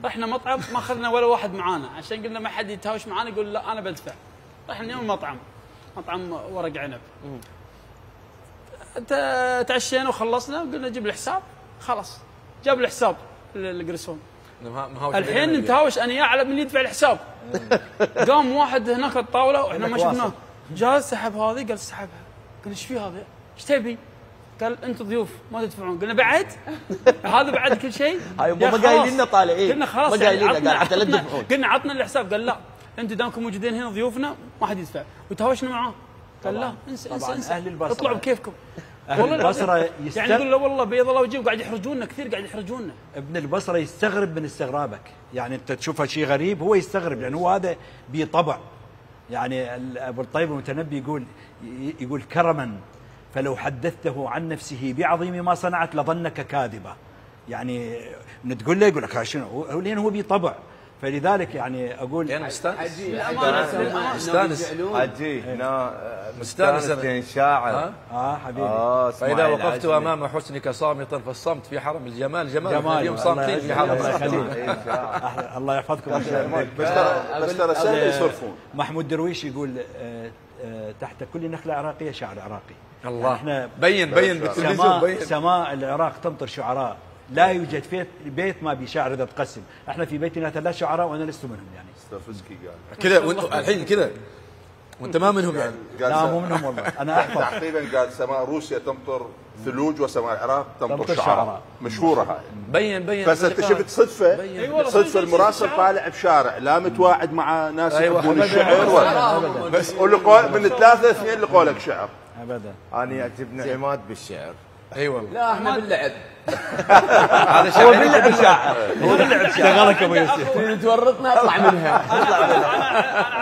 رحنا مطعم ما أخذنا ولا واحد معانا عشان قلنا ما حد يتهاوش معانا يقول لا أنا بدفع. رحنا اليوم مطعم ورق عنب، تعشينا وخلصنا وقلنا جيب الحساب، خلاص جاب الحساب القرسون. الحين نتهاوش انا يا على من يدفع الحساب. قام واحد هناك الطاوله واحنا ما شفناه، جاء سحب هذه، قال سحبها، قلنا ايش في هذا؟ ايش تبي؟ قال انتم ضيوف ما تدفعون. قلنا بعد هذا بعد كل شيء. هاي ما قايلين لنا طالعين، قلنا خلاص ما قايلين لنا، قال حتى لا تدفعون. قلنا عطنا الحساب، قال لا انتم دامكم موجودين هنا ضيوفنا ما حد يدفع، وتهاوشنا معاه. قال لا انسى أهل البصرة اطلعوا بكيفكم. أهل البصرة يعني يقول له والله بيض الله وجهه، قاعد يحرجونا كثير، قاعد يحرجونا. ابن البصرة يستغرب من استغرابك، يعني انت تشوفه شيء غريب هو يستغرب، لأنه هو هذا بطبع. يعني ابو الطيب المتنبي يقول كرما فلو حدثته عن نفسه بعظيم ما صنعت لظنك كاذبة. يعني تقول له يقول لك شنو، لأنه هو بطبع. فلذلك يعني اقول يعني مستانس مستانس شاعر حبيبي. فاذا وقفت امام حسنك صامتا فالصمت في حرم الجمال جمال. اليوم صامتين في حرم الله يحفظكم. بس ترى سهل يصرفون. محمود درويش يقول تحت كل نخله عراقيه شعر عراقي. الله احنا بين بالتلفزيون سماء العراق تمطر شعراء، لا يوجد بيت ما بشاعر اذا تقسم. احنا في بيتنا 3 شعراء وانا لست منهم. يعني استرفزكي قال كذا الحين كذا وانت ما منهم يعني؟ لا مو منهم والله، انا احفظ. تقريبا قال سماء روسيا تمطر ثلوج وسماء العراق تمطر شعراء. مشهوره هاي. بين بس انت شفت صدفه المراسل طالع بشارع لا متواعد مع ناس يحبون الشعر بس من 3 2 اللي قولك شعر ابدا. انا يعجبني عماد بالشعر. اي والله. لا احنا باللعب. هذا هو باللعب شاعر، هو باللعب شاعر. شغلك ابو يوسف تورطنا اطلع منها.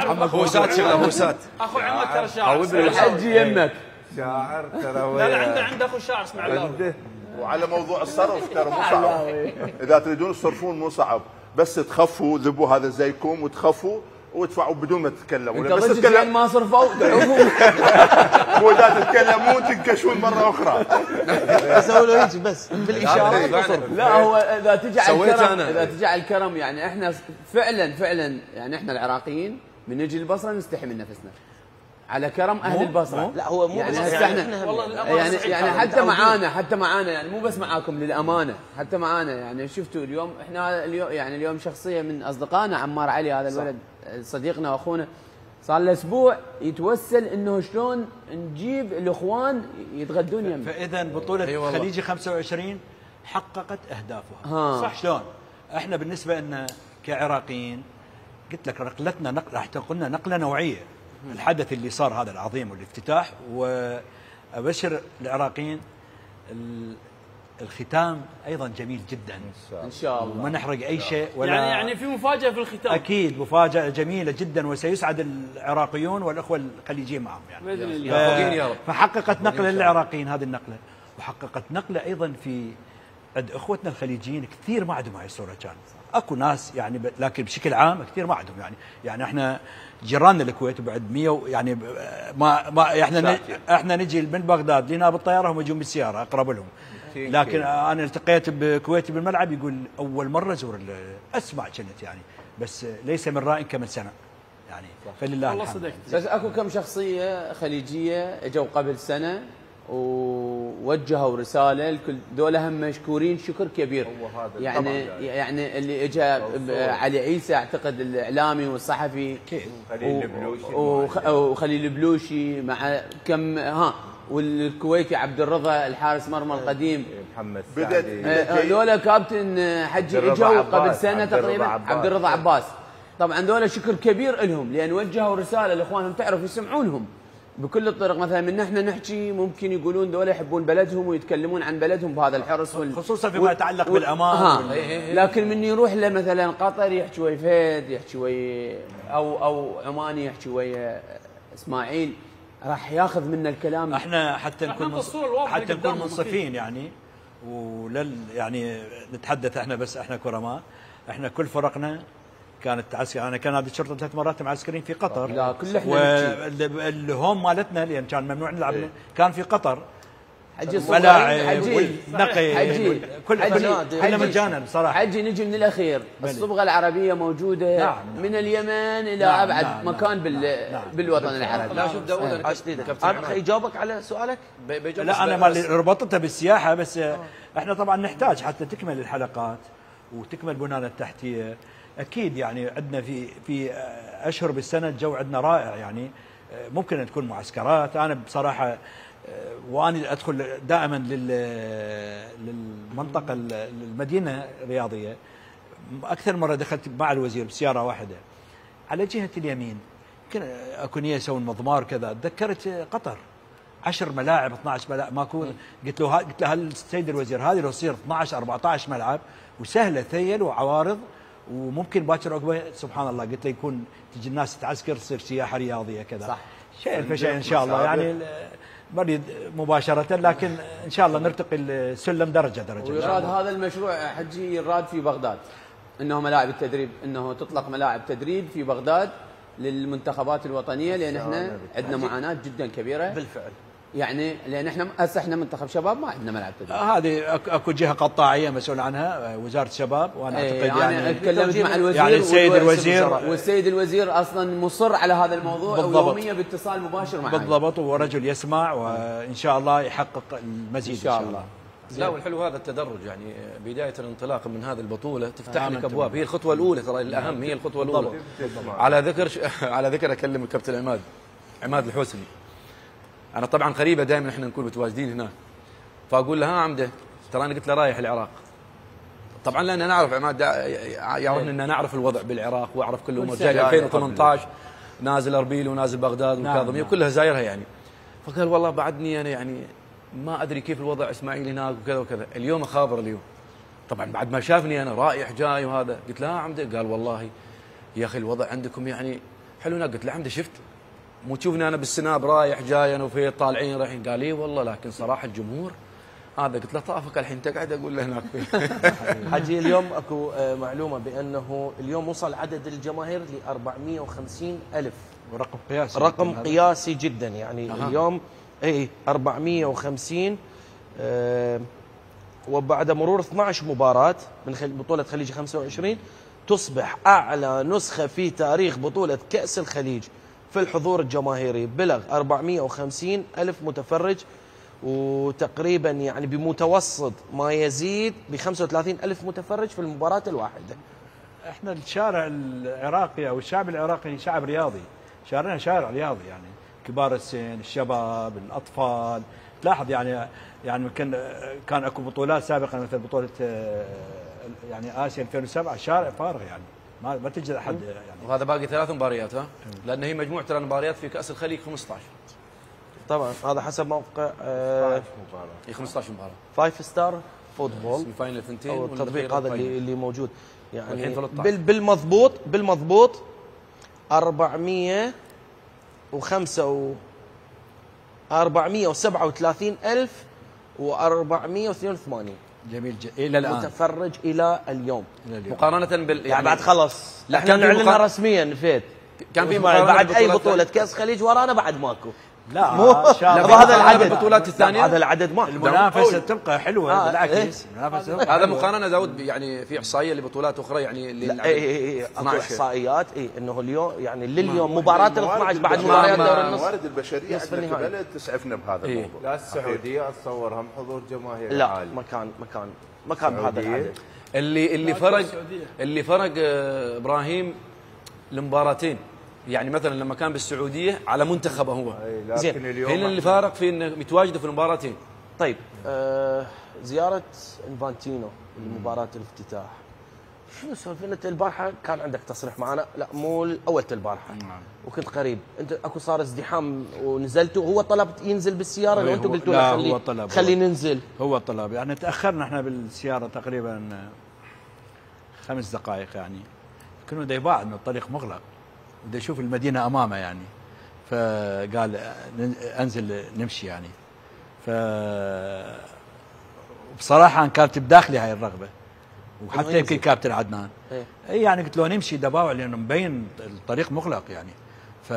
عمك هوسات شغله هوسات. اخو عمك ترى شاعر. الحج يمك شاعر ترى. لا عنده اخو شاعر اسمع الله. وعلى موضوع الصرف ترى مو صعب. اذا تريدون تصرفون مو صعب، بس تخفوا ذبوا هذا زيكم وتخفوا وادفعوا بدون ما تتكلموا. انت ضد ما صرفوا مو اذا تتكلمون تنكشون مره اخرى. اسوي له هيك بس بالاشاره. لا هو اذا تجي على الكرم، اذا تجي على الكرم يعني احنا فعلا يعني احنا العراقيين من نجي البصره نستحي من نفسنا على كرم اهل البصره. لا هو مو يعني بس احنا يعني حتى معانا يعني مو بس معاكم للامانه، حتى معانا يعني شفتوا اليوم احنا اليوم شخصيه من اصدقائنا عمار علي هذا الولد صديقنا واخونا صار له اسبوع يتوسل انه شلون نجيب الاخوان يتغدون يمنا. فاذا بطوله خليجي 25 حققت اهدافها. صح شلون؟ احنا بالنسبه لنا كعراقيين قلت لك نقلتنا راح قلنا نقله نوعيه. الحدث اللي صار هذا العظيم والافتتاح، وابشر العراقيين الختام ايضا جميل جدا ان شاء الله. وما نحرق اي شيء ولا يعني في مفاجاه في الختام. اكيد مفاجاه جميله جدا، وسيسعد العراقيون والاخوه الخليجيين معهم يعني باذن الله. فحققت نقله للعراقيين هذه النقله، وحققت نقله ايضا في عند اخوتنا الخليجيين. كثير ما عندهم هاي الصوره، كان اكو ناس يعني لكن بشكل عام كثير ما عندهم يعني احنا جيراننا الكويت وبعد 100 يعني ما احنا نجي من بغداد لنا بالطياره، هم يجون بالسياره اقرب لهم. لكن انا التقيت بكويتي بالملعب يقول اول مره ازور اسمع كنت يعني، بس ليس من راء كمن سمع يعني. فلله الحمد. بس اكو كم شخصيه خليجيه اجوا قبل سنه ووجهوا رساله الكل، دول هم مشكورين شكر كبير. يعني اللي اجى علي عيسى اعتقد الاعلامي والصحفي وخليل البلوشي مع كم والكويتي عبد الرضا الحارس مرمى القديم محمد هذول كابتن حجي اجوا قبل سنه تقريبا عبد الرضا عباس. طبعا دول شكر كبير لهم لان وجهوا رساله لاخوانهم تعرف يسمعونهم بكل الطرق. مثلا من احنا نحكي ممكن يقولون دول يحبون بلدهم ويتكلمون عن بلدهم بهذا الحرص خصوصا فيما يتعلق بالامان. لكن من يروح لمثلا قطر يحكي ويا فهد، يحكي ويا او عماني يحكي ويا اسماعيل، راح ياخذ منا الكلام. احنا حتى نكون منصفين يعني يعني نتحدث احنا بس احنا كرماء. احنا كل فرقنا كانت تعسكر، انا كان نادي الشرطه 3 مرات معسكرين في قطر. لا كل احنا والهوم مالتنا لان كان ممنوع نلعب كان في قطر. حجي ملاعب والنقي كلها مجانا بصراحه. حجي نجي من الاخير. الصبغه العربيه موجوده من اليمن الى ابعد مكان بالوطن العربي. لا شوف انا يجاوبك على سؤالك. لا انا ما ربطتها بالسياحه، بس احنا طبعا نحتاج حتى تكمل الحلقات وتكمل بنانا التحتيه. اكيد يعني عندنا في اشهر بالسنه الجو عندنا رائع يعني. ممكن تكون معسكرات. انا بصراحه وانا ادخل دائما للمنطقه المدينه الرياضيه. اكثر مره دخلت مع الوزير بسياره واحده على جهه اليمين، اكو نيه يسوون مضمار كذا. تذكرت قطر 10 ملاعب 12 ملاعب ماكو. قلت له السيد الوزير هذه لو تصير 12 14 ملعب وسهله ثيل وعوارض وممكن باكر عقبه سبحان الله. قلت له يكون تجي الناس تعسكر تصير سياحه رياضيه كذا. صح. شيء فشيء ان شاء الله يعني مريد مباشره، لكن ان شاء الله نرتقي السلم درجه. ويراد هذا المشروع حجي يراد في بغداد، انه ملاعب التدريب، انه تطلق ملاعب تدريب في بغداد للمنتخبات الوطنيه، لان احنا عندنا معاناه جدا كبيره بالفعل. يعني لان احنا هسه احنا منتخب شباب ما عندنا ملعب تدريب. هذه اكو جهه قطاعيه مسؤول عنها وزاره الشباب، وانا اعتقد يعني تكلمت مع الوزير يعني السيد الوزير والسيد الوزير اصلا مصر على هذا الموضوع ويوميا باتصال مباشر معي. بالضبط، ورجل يسمع وان شاء الله يحقق المزيد ان شاء الله. لا والحلو هذا التدرج يعني بدايه الانطلاق من هذه البطوله تفتح لك ابواب. هي الخطوه الاولى ترى الاهم، هي الخطوه الاولى. على ذكر اكلم الكابتن عماد الحوسني. انا طبعا قريبه دائما احنا نكون متواجدين هناك، فاقول له ها عمده ترى انا قلت له رايح العراق. طبعا لان نعرف عماد يعرفنا ان نعرف الوضع بالعراق واعرف كل الامور. جاي 2018 نازل اربيل ونازل بغداد والكاظميه كلها زايرها يعني. فقال والله بعدني انا يعني ما ادري كيف الوضع اسماعيل هناك وكذا وكذا. اليوم اخابر اليوم طبعا بعد ما شافني انا رايح جاي وهذا. قلت له ها عمده، قال والله يا اخي الوضع عندكم يعني حلو هناك. قلت له عمده شفت مو تشوفني انا بالسناب رايح جاي انا وفي طالعين رايحين. قال لي والله لكن صراحه الجمهور هذا قلت له طافك الحين تقعد اقول له هناك. حجي اليوم اكو معلومه بانه اليوم وصل عدد الجماهير ل 450,000. رقم قياسي. رقم قياسي جدا يعني. اليوم 450. وبعد مرور 12 مباراة من بطولة خليج 25 تصبح أعلى نسخة في تاريخ بطولة كأس الخليج في الحضور الجماهيري. بلغ 450,000 متفرج، وتقريبا يعني بمتوسط ما يزيد ب 35,000 متفرج في المباراة الواحدة. احنا الشارع العراقي او الشعب العراقي شعب رياضي، شارعنا شارع رياضي يعني، كبار السن، الشباب، الاطفال. تلاحظ يعني كان اكو بطولات سابقه مثل بطوله يعني اسيا 2007 شارع فارغ يعني ما تجد احد يعني. وهذا باقي 3 مباريات لان هي مجموعه المباريات في كاس الخليج 15. طبعا هذا حسب موقع 15 مباراه 5 ستار فوتبول فاينل 2 او التطبيق هذا اللي موجود يعني. بالمضبوط 437,482 جميل الى الان متفرج الى اليوم. مقارنه يعني بعد خلص لا احنا نعلنها رسميا نفيت. كان في بعد اي بطوله كاس خليج ورانا بعد ماكو. لا هذا العدد البطولات الثانيه هذا العدد ما المنافسه تبقى حلوه بالعكس. المنافسه هذا مقارنه داود يعني في احصائيه لبطولات اخرى يعني اكو احصائيات انه اليوم يعني لليوم مباراه ال 12 بعد مباريات دور النص. الموارد البشريه عندنا كبلد تسعفنا بهذا الموضوع. لا السعوديه اتصور هم حضور جماهيري لا عالي. مكان بهذا العدد. اللي فرق ابراهيم المباراتين يعني مثلا لما كان بالسعوديه على منتخبه هو زين هنا اللي فارق في انه متواجده في المباراتين. طيب زياره انفانتينو لمباراه الافتتاح شنو سولفنا؟ انت البارحه كان عندك تصريح معنا، لا مو اول البارحه وكنت قريب، انت اكو صار ازدحام ونزلتوا، هو طلب ينزل بالسياره لو انتم قلتوا له خلي ننزل؟ هو طلب يعني تاخرنا احنا بالسياره تقريبا 5 دقائق يعني، كنا دا يباعد من الطريق مغلق ودا يشوف المدينه امامه يعني، فقال انزل نمشي يعني. ف بصراحه كانت بداخلي هاي الرغبه، وحتى يمكن كابتن عدنان اي يعني قلت له نمشي دباوع لانه مبين الطريق مغلق يعني. ف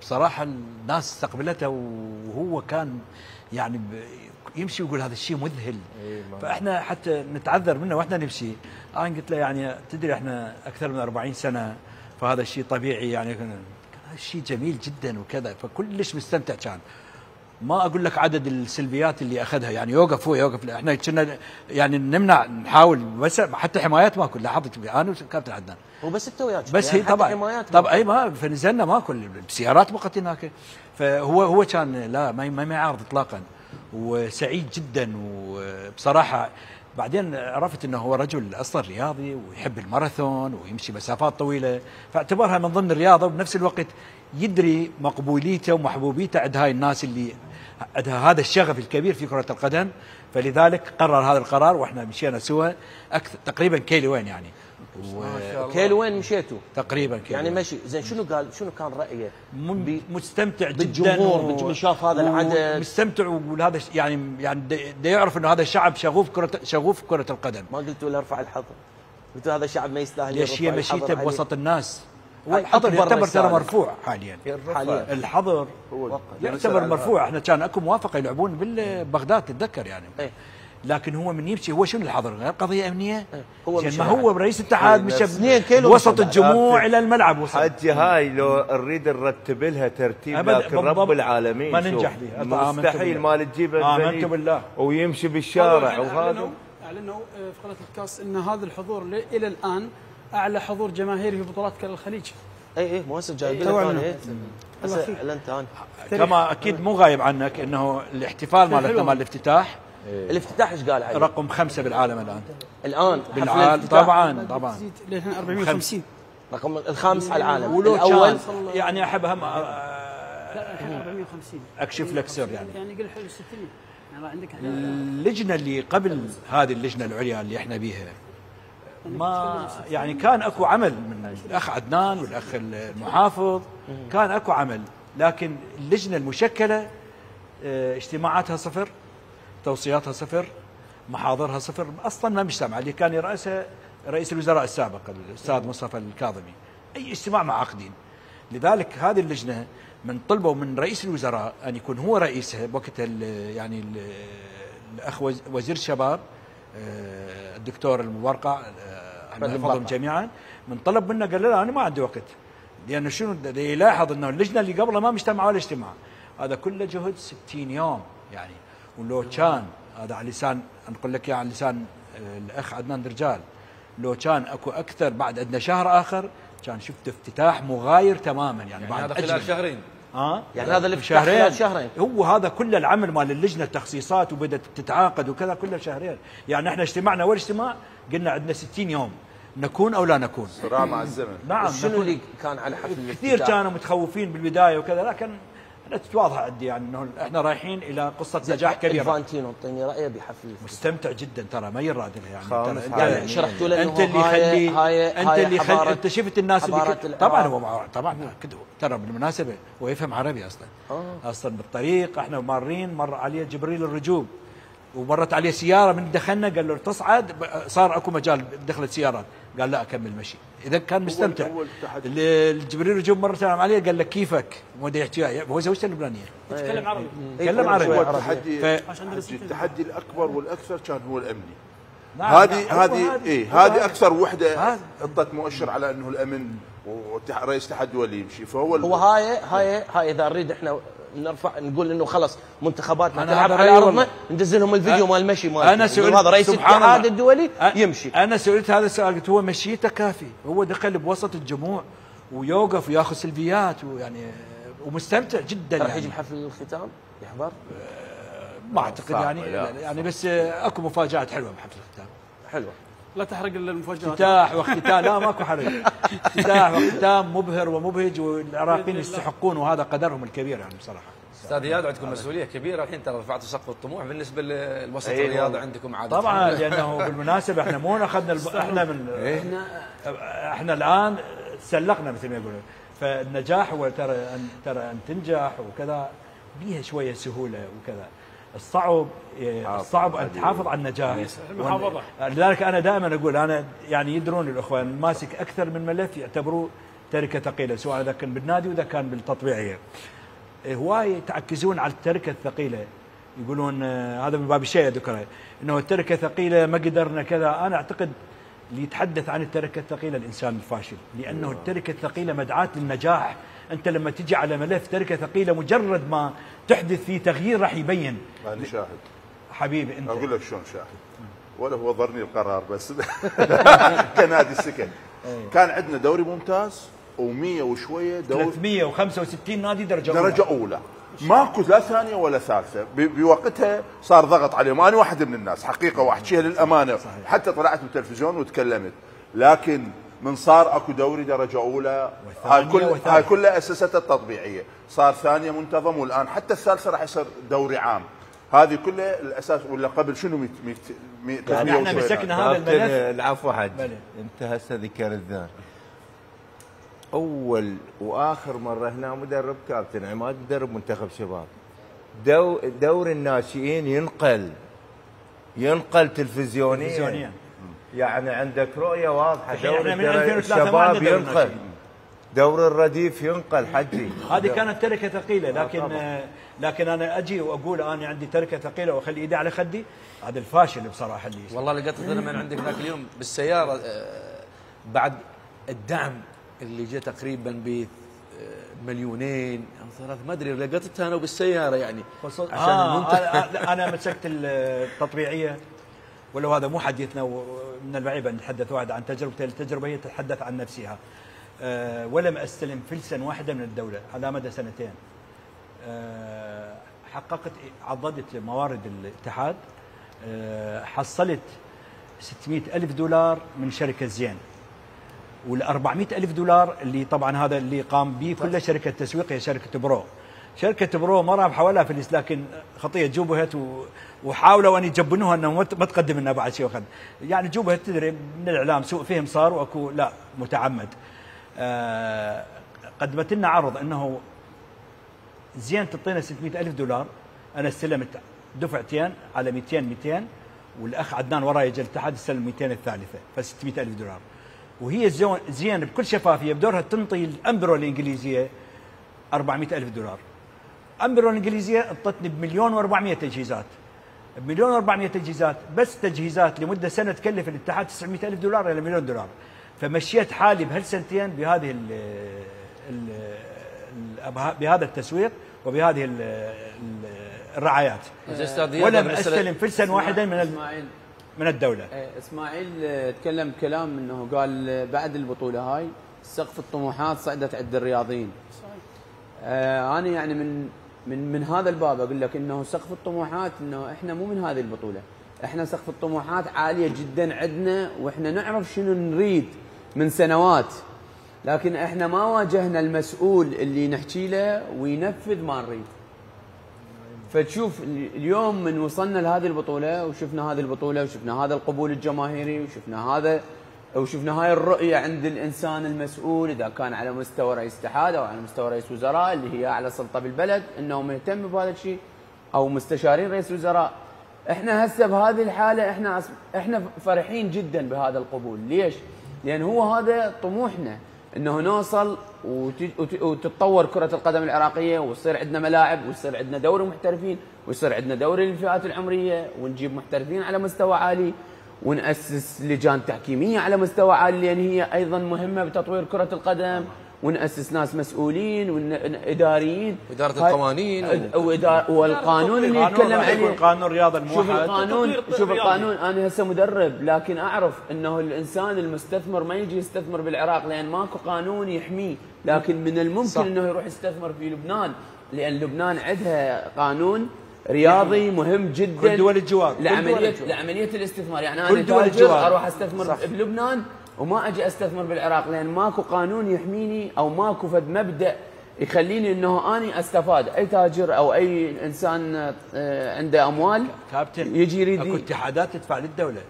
بصراحه الناس استقبلته وهو كان يعني يمشي ويقول هذا الشيء مذهل. فاحنا حتى نتعذر منه واحنا نمشي. انا قلت له يعني تدري احنا اكثر من 40 سنه فهذا الشيء طبيعي يعني، كان شيء جميل جدا وكذا، فكلش مستمتع كان. ما اقول لك عدد السلبيات اللي اخذها يعني، يوقف هو يوقف، احنا كنا يعني نمنع نحاول، بس حتى حمايات ماكو. لاحظت انا وكابتن عدنان هو بس انت وياك بس يعني هي طبعا اي ما فنزلنا ماكو، السيارات بقت هناك. فهو كان لا ما يعارض اطلاقا وسعيد جدا. وبصراحه بعدين عرفت انه هو رجل اصلا رياضي ويحب الماراثون ويمشي مسافات طويله، فاعتبرها من ضمن الرياضه، وبنفس الوقت يدري مقبوليته ومحبوبيته عند هاي الناس اللي عندها هذا الشغف الكبير في كره القدم. فلذلك قرر هذا القرار واحنا مشينا سوا تقريبا كيلوين يعني. كيلوين مشيتوا تقريبا كيلوين يعني مشي. زين شنو قال؟ شنو كان رايه؟ مستمتع بالجمهور جدا شاف هذا العدد، مستمتع وهذا يعني دا يعرف انه هذا الشعب شغوف كره القدم. ما قلتوا له ارفع الحظر؟ قلتوا هذا الشعب ما يستاهل ليش هي مشيته بوسط الناس؟ والحظر يعتبر ترى مرفوع حاليا. الحظر يعتبر مرفوع. احنا كان اكو موافقه يلعبون ببغداد تتذكر يعني. لكن هو من يمشي هو شنو الحظر؟ غير قضيه امنيه. ما هو رئيس الاتحاد مشى وسط الجموع الى الملعب وصل. حجي هاي لو نريد نرتب لها ترتيب لكن رب العالمين ما ننجح بها. مستحيل ما تجيبه امنت بالله ويمشي بالشارع. وهذا اعلنوا في قناه الكاس ان هذا الحضور الى الان اعلى حضور جماهيري في بطولات الخليج. اي مؤسس جايب لك اعلنت انا كما اكيد مو غايب عنك انه الاحتفال مالتنا مال الافتتاح. الافتتاح ايش قال عليه؟ رقم 5 بالعالم الان بالعالم طبعا لين 450 رقم الخامس على العالم. الاول يعني احب هم 450 اكشف لك سر يعني قل حلو 60 يعني عندك اللجنه اللي قبل هذه اللجنه العليا اللي احنا بيها ما يعني كان اكو عمل من الاخ عدنان والاخ المحافظ، كان اكو عمل، لكن اللجنه المشكله اجتماعاتها 0 توصياتها صفر، محاضرها صفر، اصلا ما مجتمع. اللي كان يرأسها رئيس الوزراء السابق الاستاذ مصطفى الكاظمي، اي اجتماع ما عاقدين. لذلك هذه اللجنه من طلبوا من رئيس الوزراء ان يكون هو رئيسها بوقت يعني الاخ وزير الشباب الدكتور المبرقع الله يحفظهم جميعا، من طلب منه قال له انا ما عندي وقت، لانه شنو يلاحظ انه اللجنه اللي قبله ما مجتمع ولا اجتماع، هذا كله جهد 60 يوم يعني. ولو كان هذا على لسان نقول لك على لسان الاخ عدنان درجال، لو كان اكو اكثر بعد عندنا شهر اخر كان شفت افتتاح مغاير تماما يعني بعد هذا خلال شهرين. يعني هذا الافتتاح خلال شهرين. هو هذا كل العمل مال اللجنه التخصيصات وبدات تتعاقد وكذا كله شهرين. يعني احنا اجتمعنا اول اجتماع قلنا عندنا 60 يوم نكون او لا نكون. صراع مع الزمن. نعم. شنو اللي كان على حفل الافتتاح؟ كثير كانوا متخوفين بالبدايه وكذا، لكن انا تتواضح عندي يعني انه احنا رايحين الى قصه نجاح كبيره. فانتينو اعطيني رايه بحفل الافتتاح. مستمتع جدا ترى، ما يراد له يعني شرحتوا له انت اللي خلي انت اللي خلي انت شفت الناس اللي طبعا هو طبعا ترى بالمناسبه هو يفهم عربي اصلا. اصلا بالطريق احنا مارين مر عليه جبريل الرجوب ومرت عليه سياره، من دخلنا قال له تصعد، صار اكو مجال دخلت سيارات، قال لا اكمل مشي. اذا كان مستمتع. الجبريل الرجوب مره سلام عليه قال له كيفك؟ مو يحكي هو زوجته اللبنانيه يتكلم عربي. يتكلم عربي. هو التحدي الاكبر والاكثر كان هو الامني. هذه اكثر وحده اعطت مؤشر على انه الامن ورئيس الاتحاد هو اللي يمشي. فهو هاي اذا نريد احنا نرفع نقول انه خلص منتخباتنا تلعب على ارضنا، ندز لهم الفيديو مال المشي مال انا سئلت هذا رئيس الاتحاد الدولي يمشي. انا سئلت هذا السؤال، قلت هو مشيته كافي، هو دخل بوسط الجموع ويوقف وياخذ سلفيات ويعني ومستمتع جدا. راح يجي بحفل الختام يحضر؟ ما اعتقد يعني بس اكو مفاجات حلوه بحفل الختام. حلوه، لا تحرق المفاجات. افتتاح واختتام، لا ماكو حرج. افتتاح واختتام مبهر ومبهج، والعراقيين يستحقون وهذا قدرهم الكبير يعني بصراحه. استاذ اياد عندكم مسؤوليه كبيره الحين، ترى رفعتوا سقف الطموح بالنسبه للوسط الرياضي عندكم عاده. طبعا لانه بالمناسبه احنا مو اخذنا احنا من احنا الان تسلقنا مثل ما يقولون. فالنجاح هو ترى ان تنجح وكذا بيها شويه سهوله وكذا. الصعب ان تحافظ على النجاح. لذلك انا دائما اقول، انا يعني يدرون الاخوان ماسك اكثر من ملف يعتبروه تركه ثقيله، سواء اذا كان بالنادي واذا كان بالتطبيعيه. هواي يتعكزون على التركه الثقيله، يقولون هذا من باب الشيء ذكره انه التركه ثقيله ما قدرنا كذا. انا اعتقد اللي يتحدث عن التركه الثقيله الانسان الفاشل، لانه التركه الثقيله مدعاة للنجاح. انت لما تجي على ملف تركه ثقيله مجرد ما تحدث فيه تغيير راح يبين. انا شاهد حبيبي انت. اقول لك شلون شاهد، ولا هو ضرني القرار بس كنادي السكن كان عندنا دوري ممتاز و100 وشويه دوري 365 نادي درجه اولى ماكو لا ثانيه ولا ثالثه. بوقتها صار ضغط عليهم. انا واحد من الناس حقيقه واحكيها للامانه، صحيح. حتى طلعت بالتلفزيون وتكلمت، لكن من صار اكو دوري درجه اولى هاي كلها اساساتها التطبيعيه، صار ثانيه منتظم، والان حتى الثالثه راح يصير دوري عام. هذه كلها الاساس. ولا قبل شنو يعني احنا مسكنا هذا الملف. العفو حج، انت هسه ذكرت ذا اول واخر مره هنا مدرب كابتن عماد مدرب منتخب شباب. دور الناشئين ينقل تلفزيونيا. يعني عندك رؤيه واضحه. دور الشباب ينقل، دور الرديف ينقل. حجي هذه كانت تركه ثقيله، لكن انا اجي واقول انا عندي تركه ثقيله واخلي ايدي على خدي، هذا الفاشل بصراحه. اللي والله لقيت من عندك ذاك اليوم بالسياره بعد الدعم اللي جاء تقريبا ب 2,000,000 أو 3 ما ادري، لقيتها انا بالسياره يعني عشان انا مسكت التطبيعيه. ولو هذا مو حديثنا، ومن البعيد ان نتحدث واحد عن تجربته، التجربه هي تتحدث عن نفسها. ولم استلم فلسا واحدة من الدوله على مدى 2 سنين. حققت عضدت موارد الاتحاد، حصلت 600,000 دولار من شركه زين، وال400,000 دولار اللي طبعا هذا اللي قام به كله شركه تسويق، هي شركه برو. شركه برو ما رابحه ولا فلس، لكن خطيه جوبهت وحاولوا ان يجبنوها انه ما تقدم لنا بعد شيء وخذ. يعني جوبهت تدري من الاعلام سوء فهم صار، واكو لا متعمد. قدمت لنا عرض انه زين تعطينا 600,000 دولار، انا استلمت دفعتين على 200 والاخ عدنان وراي يجي الاتحاد يستلم 200 الثالثه ف 600,000 دولار. وهي زين بكل شفافيه بدورها تنطي الامبرو الانجليزيه 400,000 دولار. امبرو الانجليزيه اعطتني ب1,400,000 تجهيزات. ب1,400,000 تجهيزات، بس تجهيزات لمده سنه تكلف الاتحاد 900,000 دولار الى مليون دولار. فمشيت حالي بهالسنتين بهذه بهذا التسويق وبهذه الرعايات. ولم استلم فلسا واحدا من الدوله. اسماعيل تكلم كلام انه قال بعد البطوله هاي سقف الطموحات صعدت عند الرياضيين. انا يعني من هذا الباب اقول لك انه سقف الطموحات انه احنا مو من هذه البطوله، احنا سقف الطموحات عاليه جدا عندنا واحنا نعرف شنو نريد من سنوات، لكن احنا ما واجهنا المسؤول اللي نحكي له وينفذ ما نريد. فتشوف اليوم من وصلنا لهذه البطوله وشفنا هذه البطوله وشفنا هذا القبول الجماهيري وشفنا هاي الرؤيه عند الانسان المسؤول، اذا كان على مستوى رئيس اتحاد او على مستوى رئيس وزراء اللي هي اعلى سلطه بالبلد انه مهتم بهذا الشيء، او مستشارين رئيس وزراء. احنا هسه بهذه الحاله احنا فرحين جدا بهذا القبول. ليش؟ لان هو هذا طموحنا، انه نوصل وتتطور كره القدم العراقيه ويصير عندنا ملاعب ويصير عندنا دوري محترفين ويصير عندنا دوري للفئات العمريه ونجيب محترفين على مستوى عالي ونأسس لجان تحكيميه على مستوى عالي لان هي ايضا مهمه بتطوير كره القدم، ونأسس ناس مسؤولين واداريين، اداره القوانين والقانون اللي يتكلم عليه قانون الرياضه الموحد. شوف القانون انا هسه مدرب لكن اعرف انه الانسان المستثمر ما يجي يستثمر بالعراق لان ماكو قانون يحميه، لكن من الممكن صح. انه يروح يستثمر في لبنان لان لبنان عندها قانون رياضي مهم جدا كل دول الجوار لعمليه الاستثمار. يعني انا تاجر اروح استثمر صح. بلبنان وما اجي استثمر بالعراق لان ماكو قانون يحميني او ماكو فد مبدا يخليني انه اني استفاد. اي تاجر او اي انسان عنده اموال كابتن يجي يريد اكو اتحادات تدفع للدوله.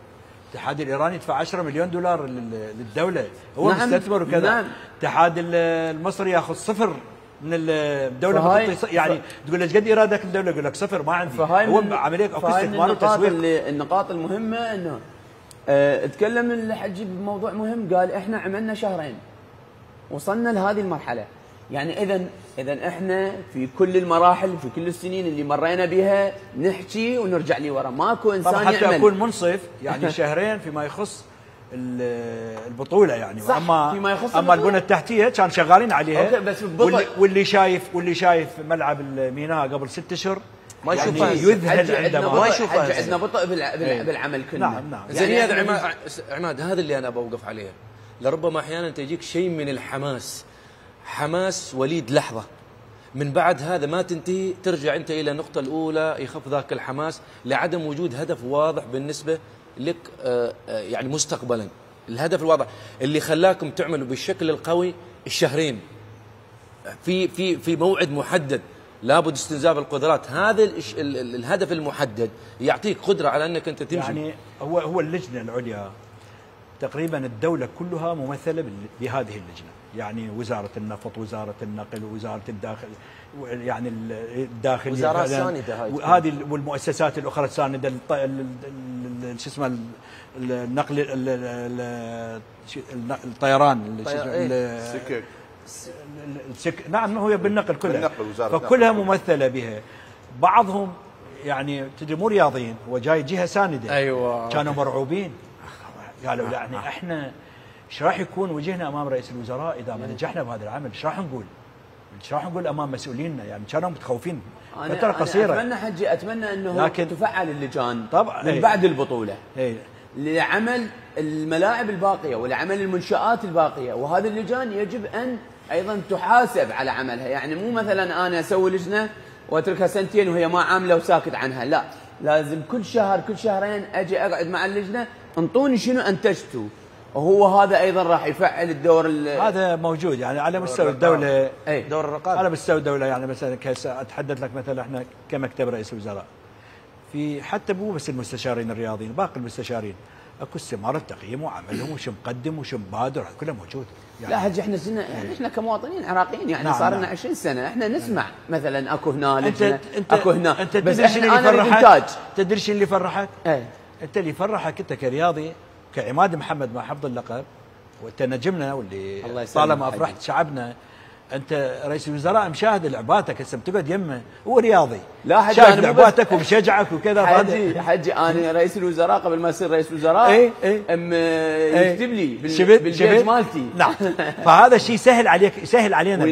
الاتحاد الايراني يدفع 10 مليون دولار للدوله، هو نعم مستثمر وكذا. نعم. الاتحاد المصري ياخذ صفر من الدوله يعني تقول له ايش قد ايرادك الدوله؟ يقول لك صفر ما عندي. هو عمليه اكو استثمار وتسويق. النقاط المهمه انه تكلم الحجي بموضوع مهم، قال احنا عملنا شهرين وصلنا لهذه المرحله. يعني اذا احنا في كل المراحل في كل السنين اللي مرينا بها نحكي ونرجع لي ورا، ماكو انسان حتى يعمل. حتى اكون منصف يعني شهرين فيما يخص البطوله يعني. اما البنى التحتيه كان شغالين عليها. بس واللي شايف ملعب الميناء قبل 6 اشهر ما يعني يشوفها يذهل عندما ما يشوفها. عندنا بطء بالعمل كله. نعم. زين يعني عماد هذا اللي انا بوقف عليه. لربما احيانا تجيك شيء من الحماس، حماس وليد لحظه، من بعد هذا ما تنتهي ترجع انت الى النقطه الاولى، يخف ذاك الحماس لعدم وجود هدف واضح بالنسبه لك يعني مستقبلا. الهدف الواضح اللي خلاكم تعملوا بالشكل القوي الشهرين في موعد محدد لابد استنزاف القدرات. هذا الهدف المحدد يعطيك قدره على انك انت تمشي. يعني هو اللجنه العليا تقريبا الدوله كلها ممثله بهذه اللجنه، يعني وزاره النفط، وزاره النقل، وزاره الداخل، يعني الداخليه، وزارات سانده هذه والمؤسسات الاخرى السانده، شو اسمه النقل، الطيران، نعم هو بالنقل كلها، فكلها ممثله بها. بعضهم يعني تدري مو رياضيين، هو جاي جهه سانده. ايوه كانوا مرعوبين، قالوا يعني احنا ايش راح يكون وجهنا امام رئيس الوزراء اذا ما نجحنا بهذا العمل؟ ايش راح نقول؟ ايش راح نقول امام مسؤولينا؟ يعني كانوا متخوفين فتره قصيره. اتمنى حجي اتمنى انه تفعل اللجان طبعا من بعد البطوله لعمل الملاعب الباقيه ولعمل المنشآت الباقيه، وهذه اللجان يجب ان ايضا تحاسب على عملها. يعني مو مثلا انا اسوي لجنه واتركها سنتين وهي ما عامله وساكت عنها، لا، لازم كل شهر كل شهرين اجي اقعد مع اللجنه انطوني شنو انتجتوا، وهو هذا ايضا راح يفعل الدور هذا موجود يعني على مستوى الدوله. دور الرقابه على مستوى الدوله، يعني مثلا اتحدث لك مثلا احنا كمكتب رئيس الوزراء، في حتى مو بس المستشارين الرياضيين، باقي المستشارين اكو استماره تقييم وعملهم وش مقدم وش مبادر كله موجود. يعني لا حجي احنا كمواطنين عراقيين يعني صار لنا 20 سنه احنا نسمع مثلا اكو هنا لجنه اكو هنا، انت بس تدري انا اريد انتاج. تدري شو اللي يفرحك؟ ايه انت اللي يفرحك انت كرياضي كعماد محمد مع حفظ اللقب وانت نجمنا واللي طالما افرحت شعبنا. انت رئيس الوزراء مشاهد لعباتك هسه بتقعد يمه، هو رياضي لا حجي شايف لعباتك ومشجعك وكذا. حجي انا رئيس الوزراء قبل ما اصير رئيس وزراء يكتب لي بالبيج مالتي. نعم فهذا الشيء يسهل عليك يسهل علينا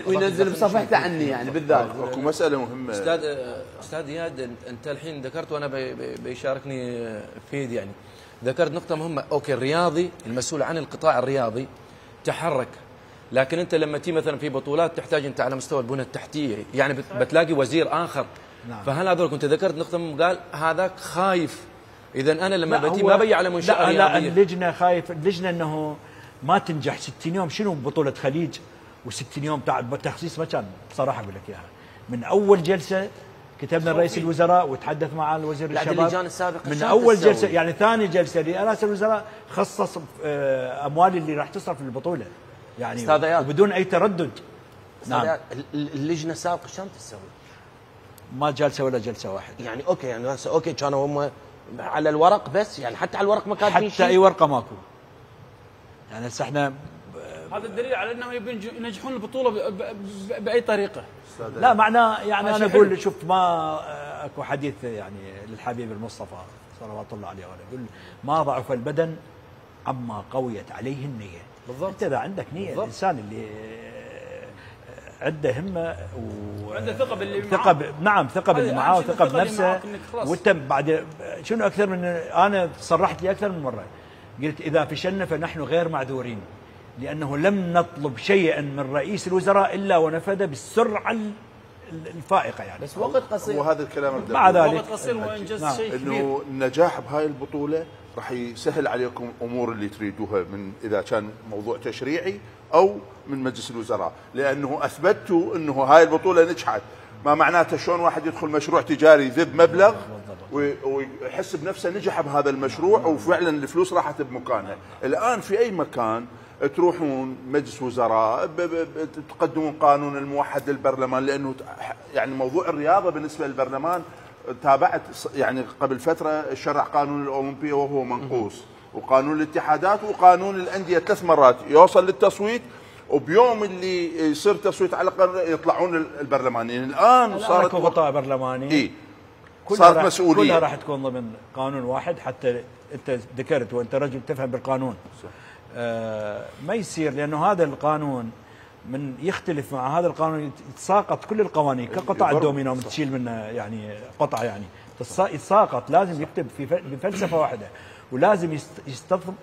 وينزل بصفحته عني يعني بالذات. اكو مساله مهمه استاذ اياد، انت الحين ذكرت وانا بيشاركني فيد يعني ذكرت نقطه مهمه. اوكي الرياضي المسؤول عن القطاع الرياضي تحرك، لكن انت لما تي مثلا في بطولات تحتاج انت على مستوى البنى التحتيه يعني بتلاقي وزير اخر. نعم. فهل هذول كنت ذكرت نقطه قال هذاك خايف، اذا انا لما بتي ما بيجي على منشاه رياضيه. لا اللجنه خايف، اللجنه انه ما تنجح 60 يوم. شنو بطوله خليج و60 يوم تاع التخصيص ما كان بصراحه اقول لك اياها. من اول جلسه كتبنا رئيس الوزراء وتحدث مع الوزير الشباب اللجان السابقه من اول جلسه يعني ثاني جلسه لرئاسه الوزراء خصص اموال اللي راح تصرف للبطوله يعني وبدون اي تردد. نعم اللجنه السابقه شلون تسوي؟ ما جلسه ولا جلسه واحده يعني اوكي يعني هسه اوكي كانوا هم على الورق بس يعني حتى على الورق ما كاتبين شيء، حتى اي ورقه ماكو. يعني هسه احنا هذا الدليل على انهم يبون ينجحون البطوله باي طريقه. لا معناه يعني انا اقول شوف ما اكو حديث يعني للحبيب المصطفى صلوات الله عليه وآله يقول ما ضعف البدن عما قويت عليه النيه. بالضبط. انت اذا عندك نيه بالضبط. الانسان اللي عنده همه وعنده ثقه باللي معاه نعم ثقه باللي معاه وثقه بنفسه. وانت بعد شنو اكثر من انا صرحت لي اكثر من مره قلت اذا فشلنا فنحن غير معذورين لانه لم نطلب شيئا من رئيس الوزراء الا ونفذ بالسرعه الفائقه يعني. بس وقت قصير. وهذا الكلام مع ذلك وقت قصير وانجز شيء كبير. انه النجاح بهاي البطوله راح يسهل عليكم امور اللي تريدوها من اذا كان موضوع تشريعي او من مجلس الوزراء، لانه اثبتوا انه هاي البطوله نجحت. ما معناته شلون واحد يدخل مشروع تجاري ذب مبلغ ويحس بنفسه نجح بهذا المشروع وفعلا الفلوس راحت بمكانها. الان في اي مكان تروحون مجلس وزراء تقدمون قانون الموحد للبرلمان، لانه يعني موضوع الرياضه بالنسبه للبرلمان تابعت يعني قبل فتره شرع قانون الاولمبيه وهو منقوص، وقانون الاتحادات وقانون الانديه 3 مرات يوصل للتصويت، وبيوم اللي يصير تصويت على القانون يطلعون البرلمانيين. الان صارت قطاع برلماني صارت مسؤوليه كلها راح تكون ضمن قانون واحد. حتى انت ذكرت وانت رجل تفهم بالقانون ما يصير، لانه هذا القانون من يختلف مع هذا القانون يتساقط كل القوانين كقطع الدومينو تشيل منه يعني قطعه يعني يتساقط. لازم يكتب بفلسفه واحده ولازم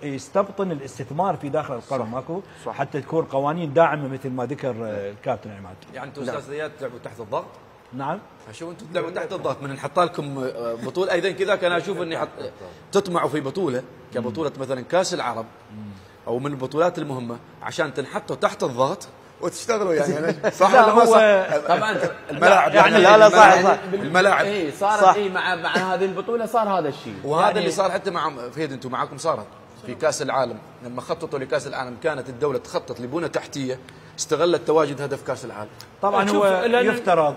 يستبطن الاستثمار في داخل القانون ماكو حتى تكون قوانين داعمه مثل ما ذكر الكابتن عماد. يعني انتم استاذ زياد تلعبوا تحت الضغط؟ نعم شوف انتم تلعبوا تحت الضغط من نحط لكم بطوله ايضا كذا. كان اشوف اني تطمعوا في بطوله كبطوله مثلا كاس العرب او من البطولات المهمه عشان تنحطوا تحت الضغط وتشتغلوا يعني. صح ولا ما صح؟ طبعا الملاعب يعني لا صح الملاعب اي صارت اي مع هذه البطوله صار هذا الشيء. وهذا يعني اللي صار حتى مع فهد انتم معاكم صارت في كاس العالم لما خططوا لكاس العالم كانت الدوله تخطط لبنى تحتيه استغلت تواجد هدف كاس العالم. طبعا هو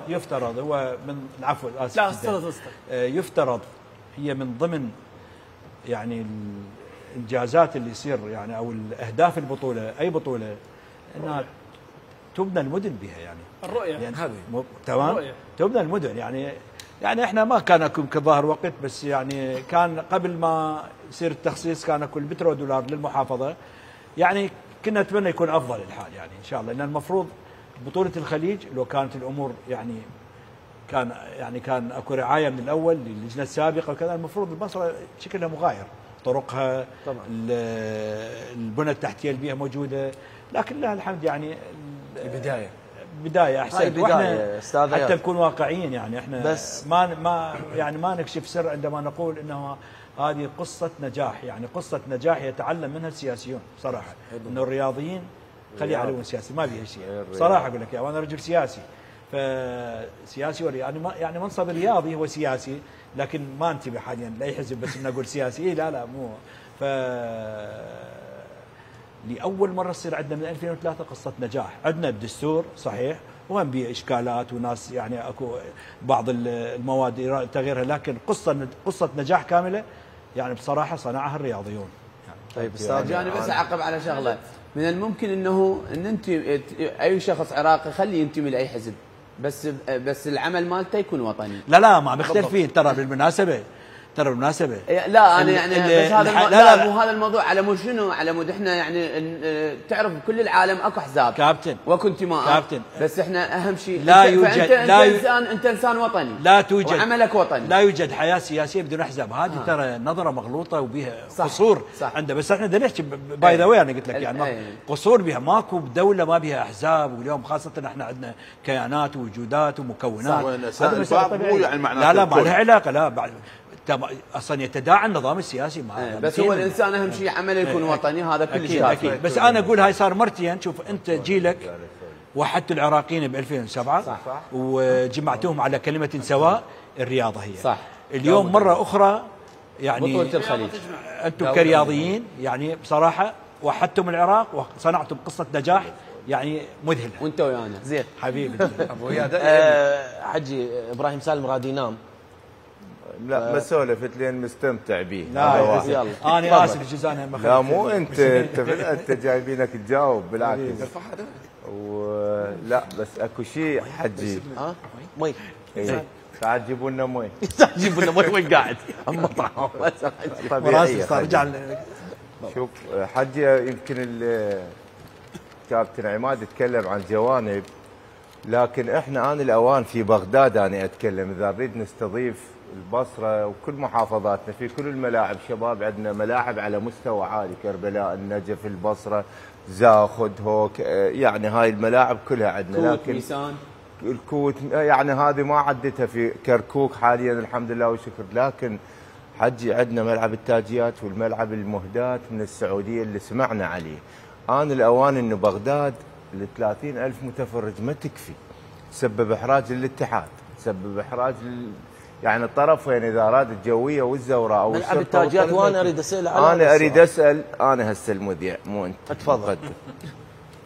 يفترض هو من العفو اسف لا استغرب يفترض هي من ضمن يعني الانجازات اللي يصير يعني او الاهداف البطوله اي بطوله انها تبنى المدن بها يعني الرؤيه يعني هذه تمام تبنى المدن يعني احنا ما كان اكو كظاهر وقت بس يعني كان قبل ما يصير التخصيص كان اكو البترو دولار للمحافظه يعني كنا نتمنى يكون افضل الحال يعني ان شاء الله. لان المفروض بطوله الخليج لو كانت الامور يعني كان اكو رعايه من الاول للجنه السابقه وكذا المفروض مصر شكلها مغاير طرقها طبعا البنى التحتيه اللي بيها موجوده لكن لها الحمد يعني بدايه احسن. واحنا حتى نكون واقعيين يعني احنا بس ما نكشف سر عندما نقول انه هذه قصه نجاح يعني قصه نجاح يتعلم منها السياسيون صراحه. انه الرياضيين خلي عليهم سياسي ما بيها شيء صراحه اقول لك يا وانا رجل سياسي فسياسي يعني منصب الرياضي هو سياسي لكن ما انتبه حاليا لاي حزب بس اني اقول سياسي لا لأول مرة تصير عندنا من 2003 قصة نجاح. عندنا الدستور صحيح وهم بيه إشكالات وناس يعني أكو بعض المواد تغييرها، لكن قصة نجاح كاملة يعني بصراحة صنعها الرياضيون. طيب استاذ يعني بس أعقب على شغلة، من الممكن انه ان انت اي شخص عراقي خليه ينتمي لاي حزب، بس العمل مالته يكون وطني. لا ما مختلفين ترى بالمناسبة. لا انا يعني بس هذا لا مو هذا الموضوع على مود شنو، على مود احنا يعني تعرف بكل العالم اكو احزاب كابتن واكو انتماءات كابتن، بس احنا اهم شيء لا يوجد انت انسان وطني، لا توجد وعملك وطني، لا يوجد حياه سياسيه بدون احزاب. هذه ترى نظره مغلوطه وبها قصور عندها. بس احنا بدنا نحكي باي ذا واي، انا قلت لك يعني قصور بها. ماكو دوله ما بها احزاب، واليوم خاصه احنا عندنا كيانات ووجودات ومكونات. هذا مو يعني معناته لا ما لها علاقه، لا اصلا يتداعى النظام السياسي معه. بس هو الانسان اهم شيء عمله يكون وطني، هذا كل شيء اكيد. بس انا اقول هاي صار مرتين. شوف انت جيلك وحدت العراقيين ب 2007 صح. وجمعتوهم على كلمه سواء، الرياضه هي صح. اليوم مره اخرى يعني بطولة الخليج انتم كرياضيين يعني بصراحه وحدتم العراق وصنعتم قصه نجاح يعني مذهله. وانت ويانا زين حبيبي. ابو اياد حجي ابراهيم سالم غادي ينام. لا ما سولفت لين مستمتع به. لا يلا انا اسف الجزء انا لا مو انت جايبينك تجاوب بالعكس. ولا بس اكو شيء حجي مي تعال جيبوا لنا مي. جيبوا لنا مي وين قاعد؟ مطعم طبيعي. شوف حجي يمكن الكابتن عماد يتكلم عن جوانب، لكن احنا آن الاوان في بغداد انا اتكلم اذا نريد نستضيف البصره وكل محافظاتنا في كل الملاعب. شباب عندنا ملاعب على مستوى عالي، كربلاء، النجف، البصره، زاخد، هوك، يعني هاي الملاعب كلها عندنا. لكن ميسان الكوت يعني هذه ما عدتها في كركوك حاليا الحمد لله والشكر. لكن حجي عندنا ملعب التاجيات والملعب المهدات من السعوديه اللي سمعنا عليه. آن الاوان انه بغداد ل 30,000 متفرج ما تكفي، تسبب احراج للاتحاد، تسبب احراج يعني الطرفين اذا اراد الجويه والزوراء او ملعب التاجيات. وانا اريد اسال انا اريد اسال انا هسه المذيع مو انت اتفضل.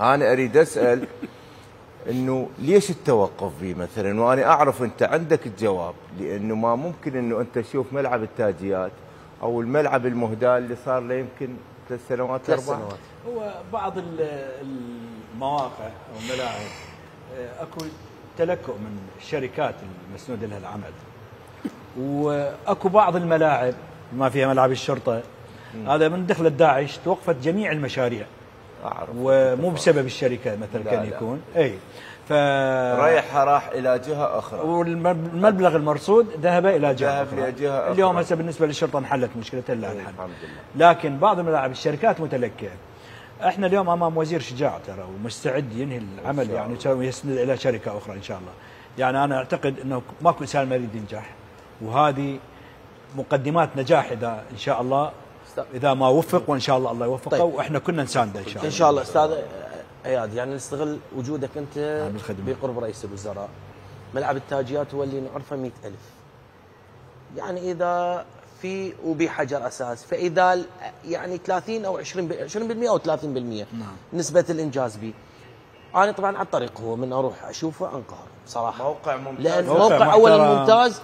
انا اريد اسال انه ليش التوقف به مثلا، وانا اعرف انت عندك الجواب، لانه ما ممكن انه انت تشوف ملعب التاجيات او الملعب المهدى اللي صار له يمكن 3 سنوات 4. هو بعض المواقع او الملاعب اكو تلكؤ من الشركات المسنود لها العمل، واكو بعض الملاعب ما فيها ملعب الشرطه هذا من دخلت داعش توقفت جميع المشاريع. اعرف ومو بسبب الشركه مثلا كان يكون اي راح الى جهه اخرى، والمبلغ المرصود ذهب الى جهه اخرى. اليوم هسه بالنسبه للشرطه انحلت مشكلتها الان الحمد لله. لكن بعض الملاعب الشركات متلكئه. احنا اليوم امام وزير شجاع ترى ومستعد ينهي العمل يعني ويسند الى شركه اخرى ان شاء الله. يعني انا اعتقد انه ماكو انسان ما يريد ينجح، وهذه مقدمات نجاح اذا ان شاء الله، اذا ما وفق وان شاء الله الله يوفقه. طيب. واحنا كنا نسانده ان شاء الله. ان شاء الله استاذ اياد يعني نستغل وجودك انت بقرب رئيس الوزراء. ملعب التاجيات هو اللي نعرفه 100,000 يعني اذا في وبحجر اساس، فاذا يعني 30 او 20% او 30% نعم. نسبه الانجاز به. انا طبعا على الطريق هو من اروح اشوفه انقهر صراحه. موقع ممتاز، لان موقع اولا ممتاز.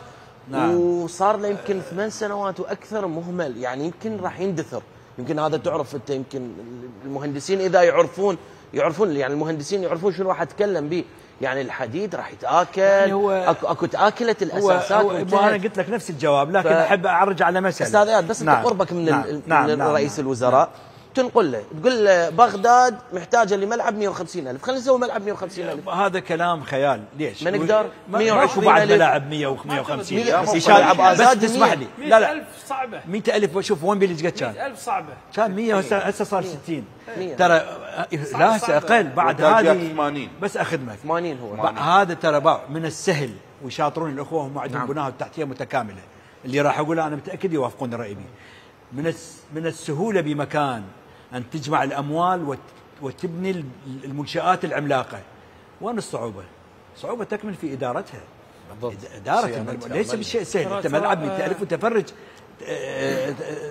نعم. وصار له يمكن 8 سنوات واكثر مهمل، يعني يمكن راح يندثر. يمكن هذا تعرف انت، يمكن المهندسين اذا يعرفون يعني المهندسين يعرفون شنو راح اتكلم به. يعني الحديد راح يتاكل، يعني اكو تاكلت الاساسات. انا قلت لك نفس الجواب، لكن احب ارجع على مساله استاذ اياد بس انت قربك من رئيس الوزراء تنقل له تقول له بغداد محتاجه لملعب 150,000، خلينا نسوي ملعب 150,000. هذا كلام خيال. ليش؟ ما نقدر 120 بعد ملاعب 100 و150 ملعب بس تسمح لي. لا 100,000 صعبه. 100,000 شوف وين بيلي قد كان؟ 100,000 صعبه. كان 100 هسه صار 60 ترى. لا هسه اقل بعد هذه 80 بس اخدمك 80 هو هذا ترى من السهل. ويشاطرون الاخوه هم عندهم بنايه التحتيه متكامله. اللي راح اقوله انا متاكد يوافقون الراي بي. من السهوله بمكان أن تجمع الأموال وتبني المنشآت العملاقة. وين الصعوبة؟ صعوبة تكمن في إدارتها. إدارة ليس بالشيء سهل. أنت ملعب 100,000 متفرج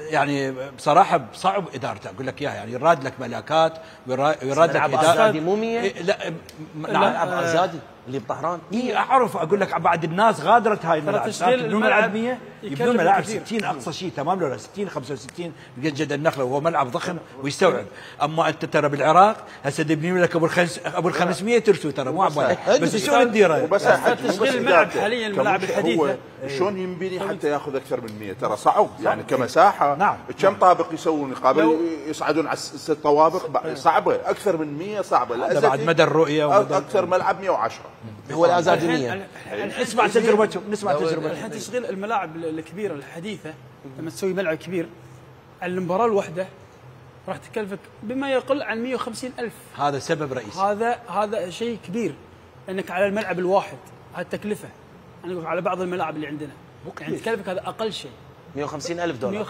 يعني بصراحه صعب ادارته، اقول لك اياها، يعني يراد لك ملاكات ويراد لك اداره مو 100. لا ملعب ازادي اللي بطهران. اي اعرف، اقول لك بعد الناس غادرت هاي الملاعب، يبنون ملعب 100 يبنون ملاعب 60 اقصى شيء، تمام ولا 60 65 بجد النخله، وهو ملعب ضخم ويستوعب. اما انت ترى بالعراق هسه تبني لك ابو ال 500 ترسو ترى مو عبالك، بس شو الديره؟ وبس تشغيل الملعب حاليا الملاعب الحديثه شلون ينبني حتى ياخذ اكثر من 100؟ ترى صعب يعني كمساحه. نعم. كم طابق يسوون قابل يصعدون على 6 طوابق؟ صعبه. اكثر من 100 صعبه. هذا بعد مدى الرؤيه اكثر ملعب 110 هو الازادي 100. نسمع تجربتهم، نسمع تجربتهم. الحين تشغيل الملاعب الكبيره الحديثه لما تسوي ملعب كبير على المباراه الواحده راح تكلفك بما يقل عن 150,000. هذا سبب رئيسي. هذا شيء كبير انك على الملعب الواحد، هذه التكلفه. انا اقول على بعض الملاعب اللي عندنا يعني تكلفك هذا اقل شيء 150,000 دولار،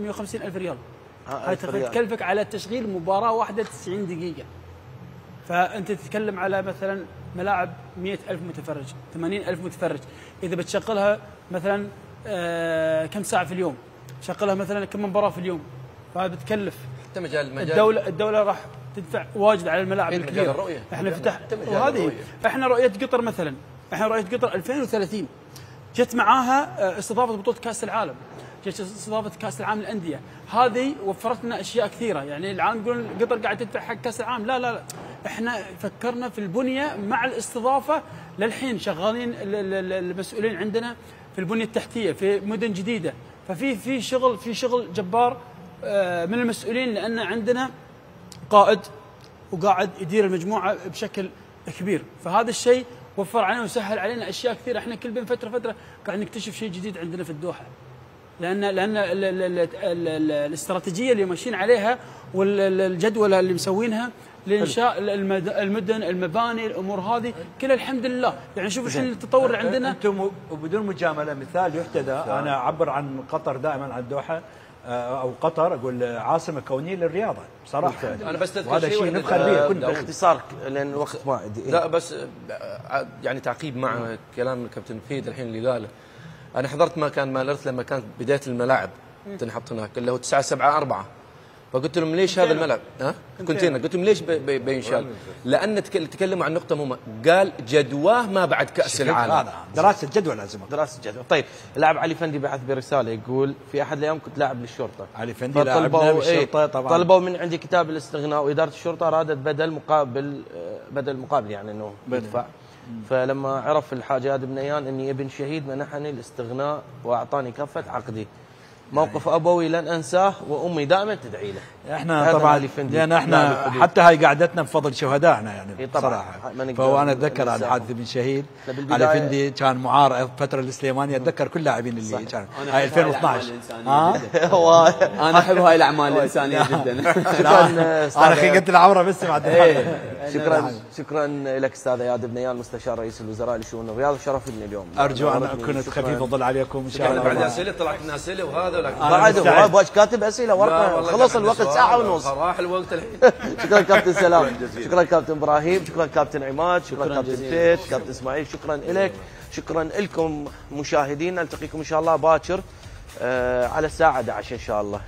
150,000 ريال. هاي تكلفك على تشغيل مباراه واحده 90 دقيقه. فانت تتكلم على مثلا ملاعب 100,000 متفرج، 80,000 متفرج، اذا بتشغلها مثلا كم ساعه في اليوم؟ شغلها مثلا كم مباراه في اليوم، فهذا بتكلف. حتى مجال الدوله راح تدفع واجد على الملاعب الكبيره. احنا فتح وهذه احنا رؤيه قطر مثلا، احنا رؤيه قطر 2030 جت معاها استضافه بطوله كاس العالم، جت استضافه كاس العالم للانديه، هذه وفرت لنا اشياء كثيره. يعني العالم يقولون قطر قاعد تدفع حق كاس العالم، لا احنا فكرنا في البنيه مع الاستضافه. للحين شغالين المسؤولين عندنا في البنيه التحتيه في مدن جديده، ففي شغل جبار من المسؤولين، لان عندنا قائد وقاعد يدير المجموعه بشكل كبير. فهذا الشيء وفر علينا وسهل علينا اشياء كثيره. احنا كل بين فتره قاعد نكتشف شيء جديد عندنا في الدوحه، لان الاستراتيجيه اللي ماشيين عليها والجدول اللي مسوينها لانشاء المدن المباني الامور هذه كلها الحمد لله. يعني شوف الحين التطور اللي عندنا. انتم وبدون مجامله مثال يحتذى، انا اعبر عن قطر دائما عن الدوحه او قطر، اقول عاصمه كونيه للرياضه بصراحه. انا بس هذا شيء نفخر به كلنا باختصار لان الوقت ما عندي. لا بس يعني تعقيب مع كلام الكابتن فهد الحين اللي قاله. انا حضرت مكان مالرث لما كانت بدايه الملاعب تنحط هناك اللي هو 974، فقلت لهم ليش هذا الملعب؟ كونتينر. قلت لهم ليش بينشال؟ لان تكلموا عن نقطه مهمه، قال جدواه ما بعد كاس العالم. هذا دراسه جدوى لازم. دراسه جدوى. طيب اللاعب علي فندي بعث برساله يقول في احد الايام كنت لاعب للشرطه. علي فندي لاعبنا بالشرطه طبعا. طلبوا من عندي كتاب الاستغناء، واداره الشرطه ارادت بدل مقابل يعني انه يدفع. فلما عرف الحاج عاد بن نيان اني ابن شهيد منحني الاستغناء واعطاني كفه عقدي. موقف ابوي لن انساه وامي دائما تدعي له. احنا طبعا لان احنا حتى هاي قعدتنا بفضل شهدائنا يعني بصراحه. فهو انا اتذكر عن حادث ابن شهيد علي فندي كان معار الفتره السليمانيه، اتذكر كل اللاعبين اللي كانوا هاي 2012. انا احب هاي الاعمال الانسانيه جدا. انا خيقت العوره بس بعد. شكرا لك استاذ اياد بن نيان مستشار رئيس الوزراء لشؤون الرياضه، شرفتني اليوم. ارجو ان اكون خفيف الظل عليكم ان شاء الله. بعد اسئله طلعت لنا اسئله وهذا بعد كاتب اسئله ورقه خلص الوقت ساعه ونص. راح الوقت الحين. شكرا كابتن سلام، شكرا كابتن ابراهيم، شكرا كابتن عماد، شكرا كابتن فهد، كابتن اسماعيل، شكرا لك، شكرا لكم مشاهدينا. نلتقيكم ان شاء الله باكر على الساعه 11 ان شاء الله.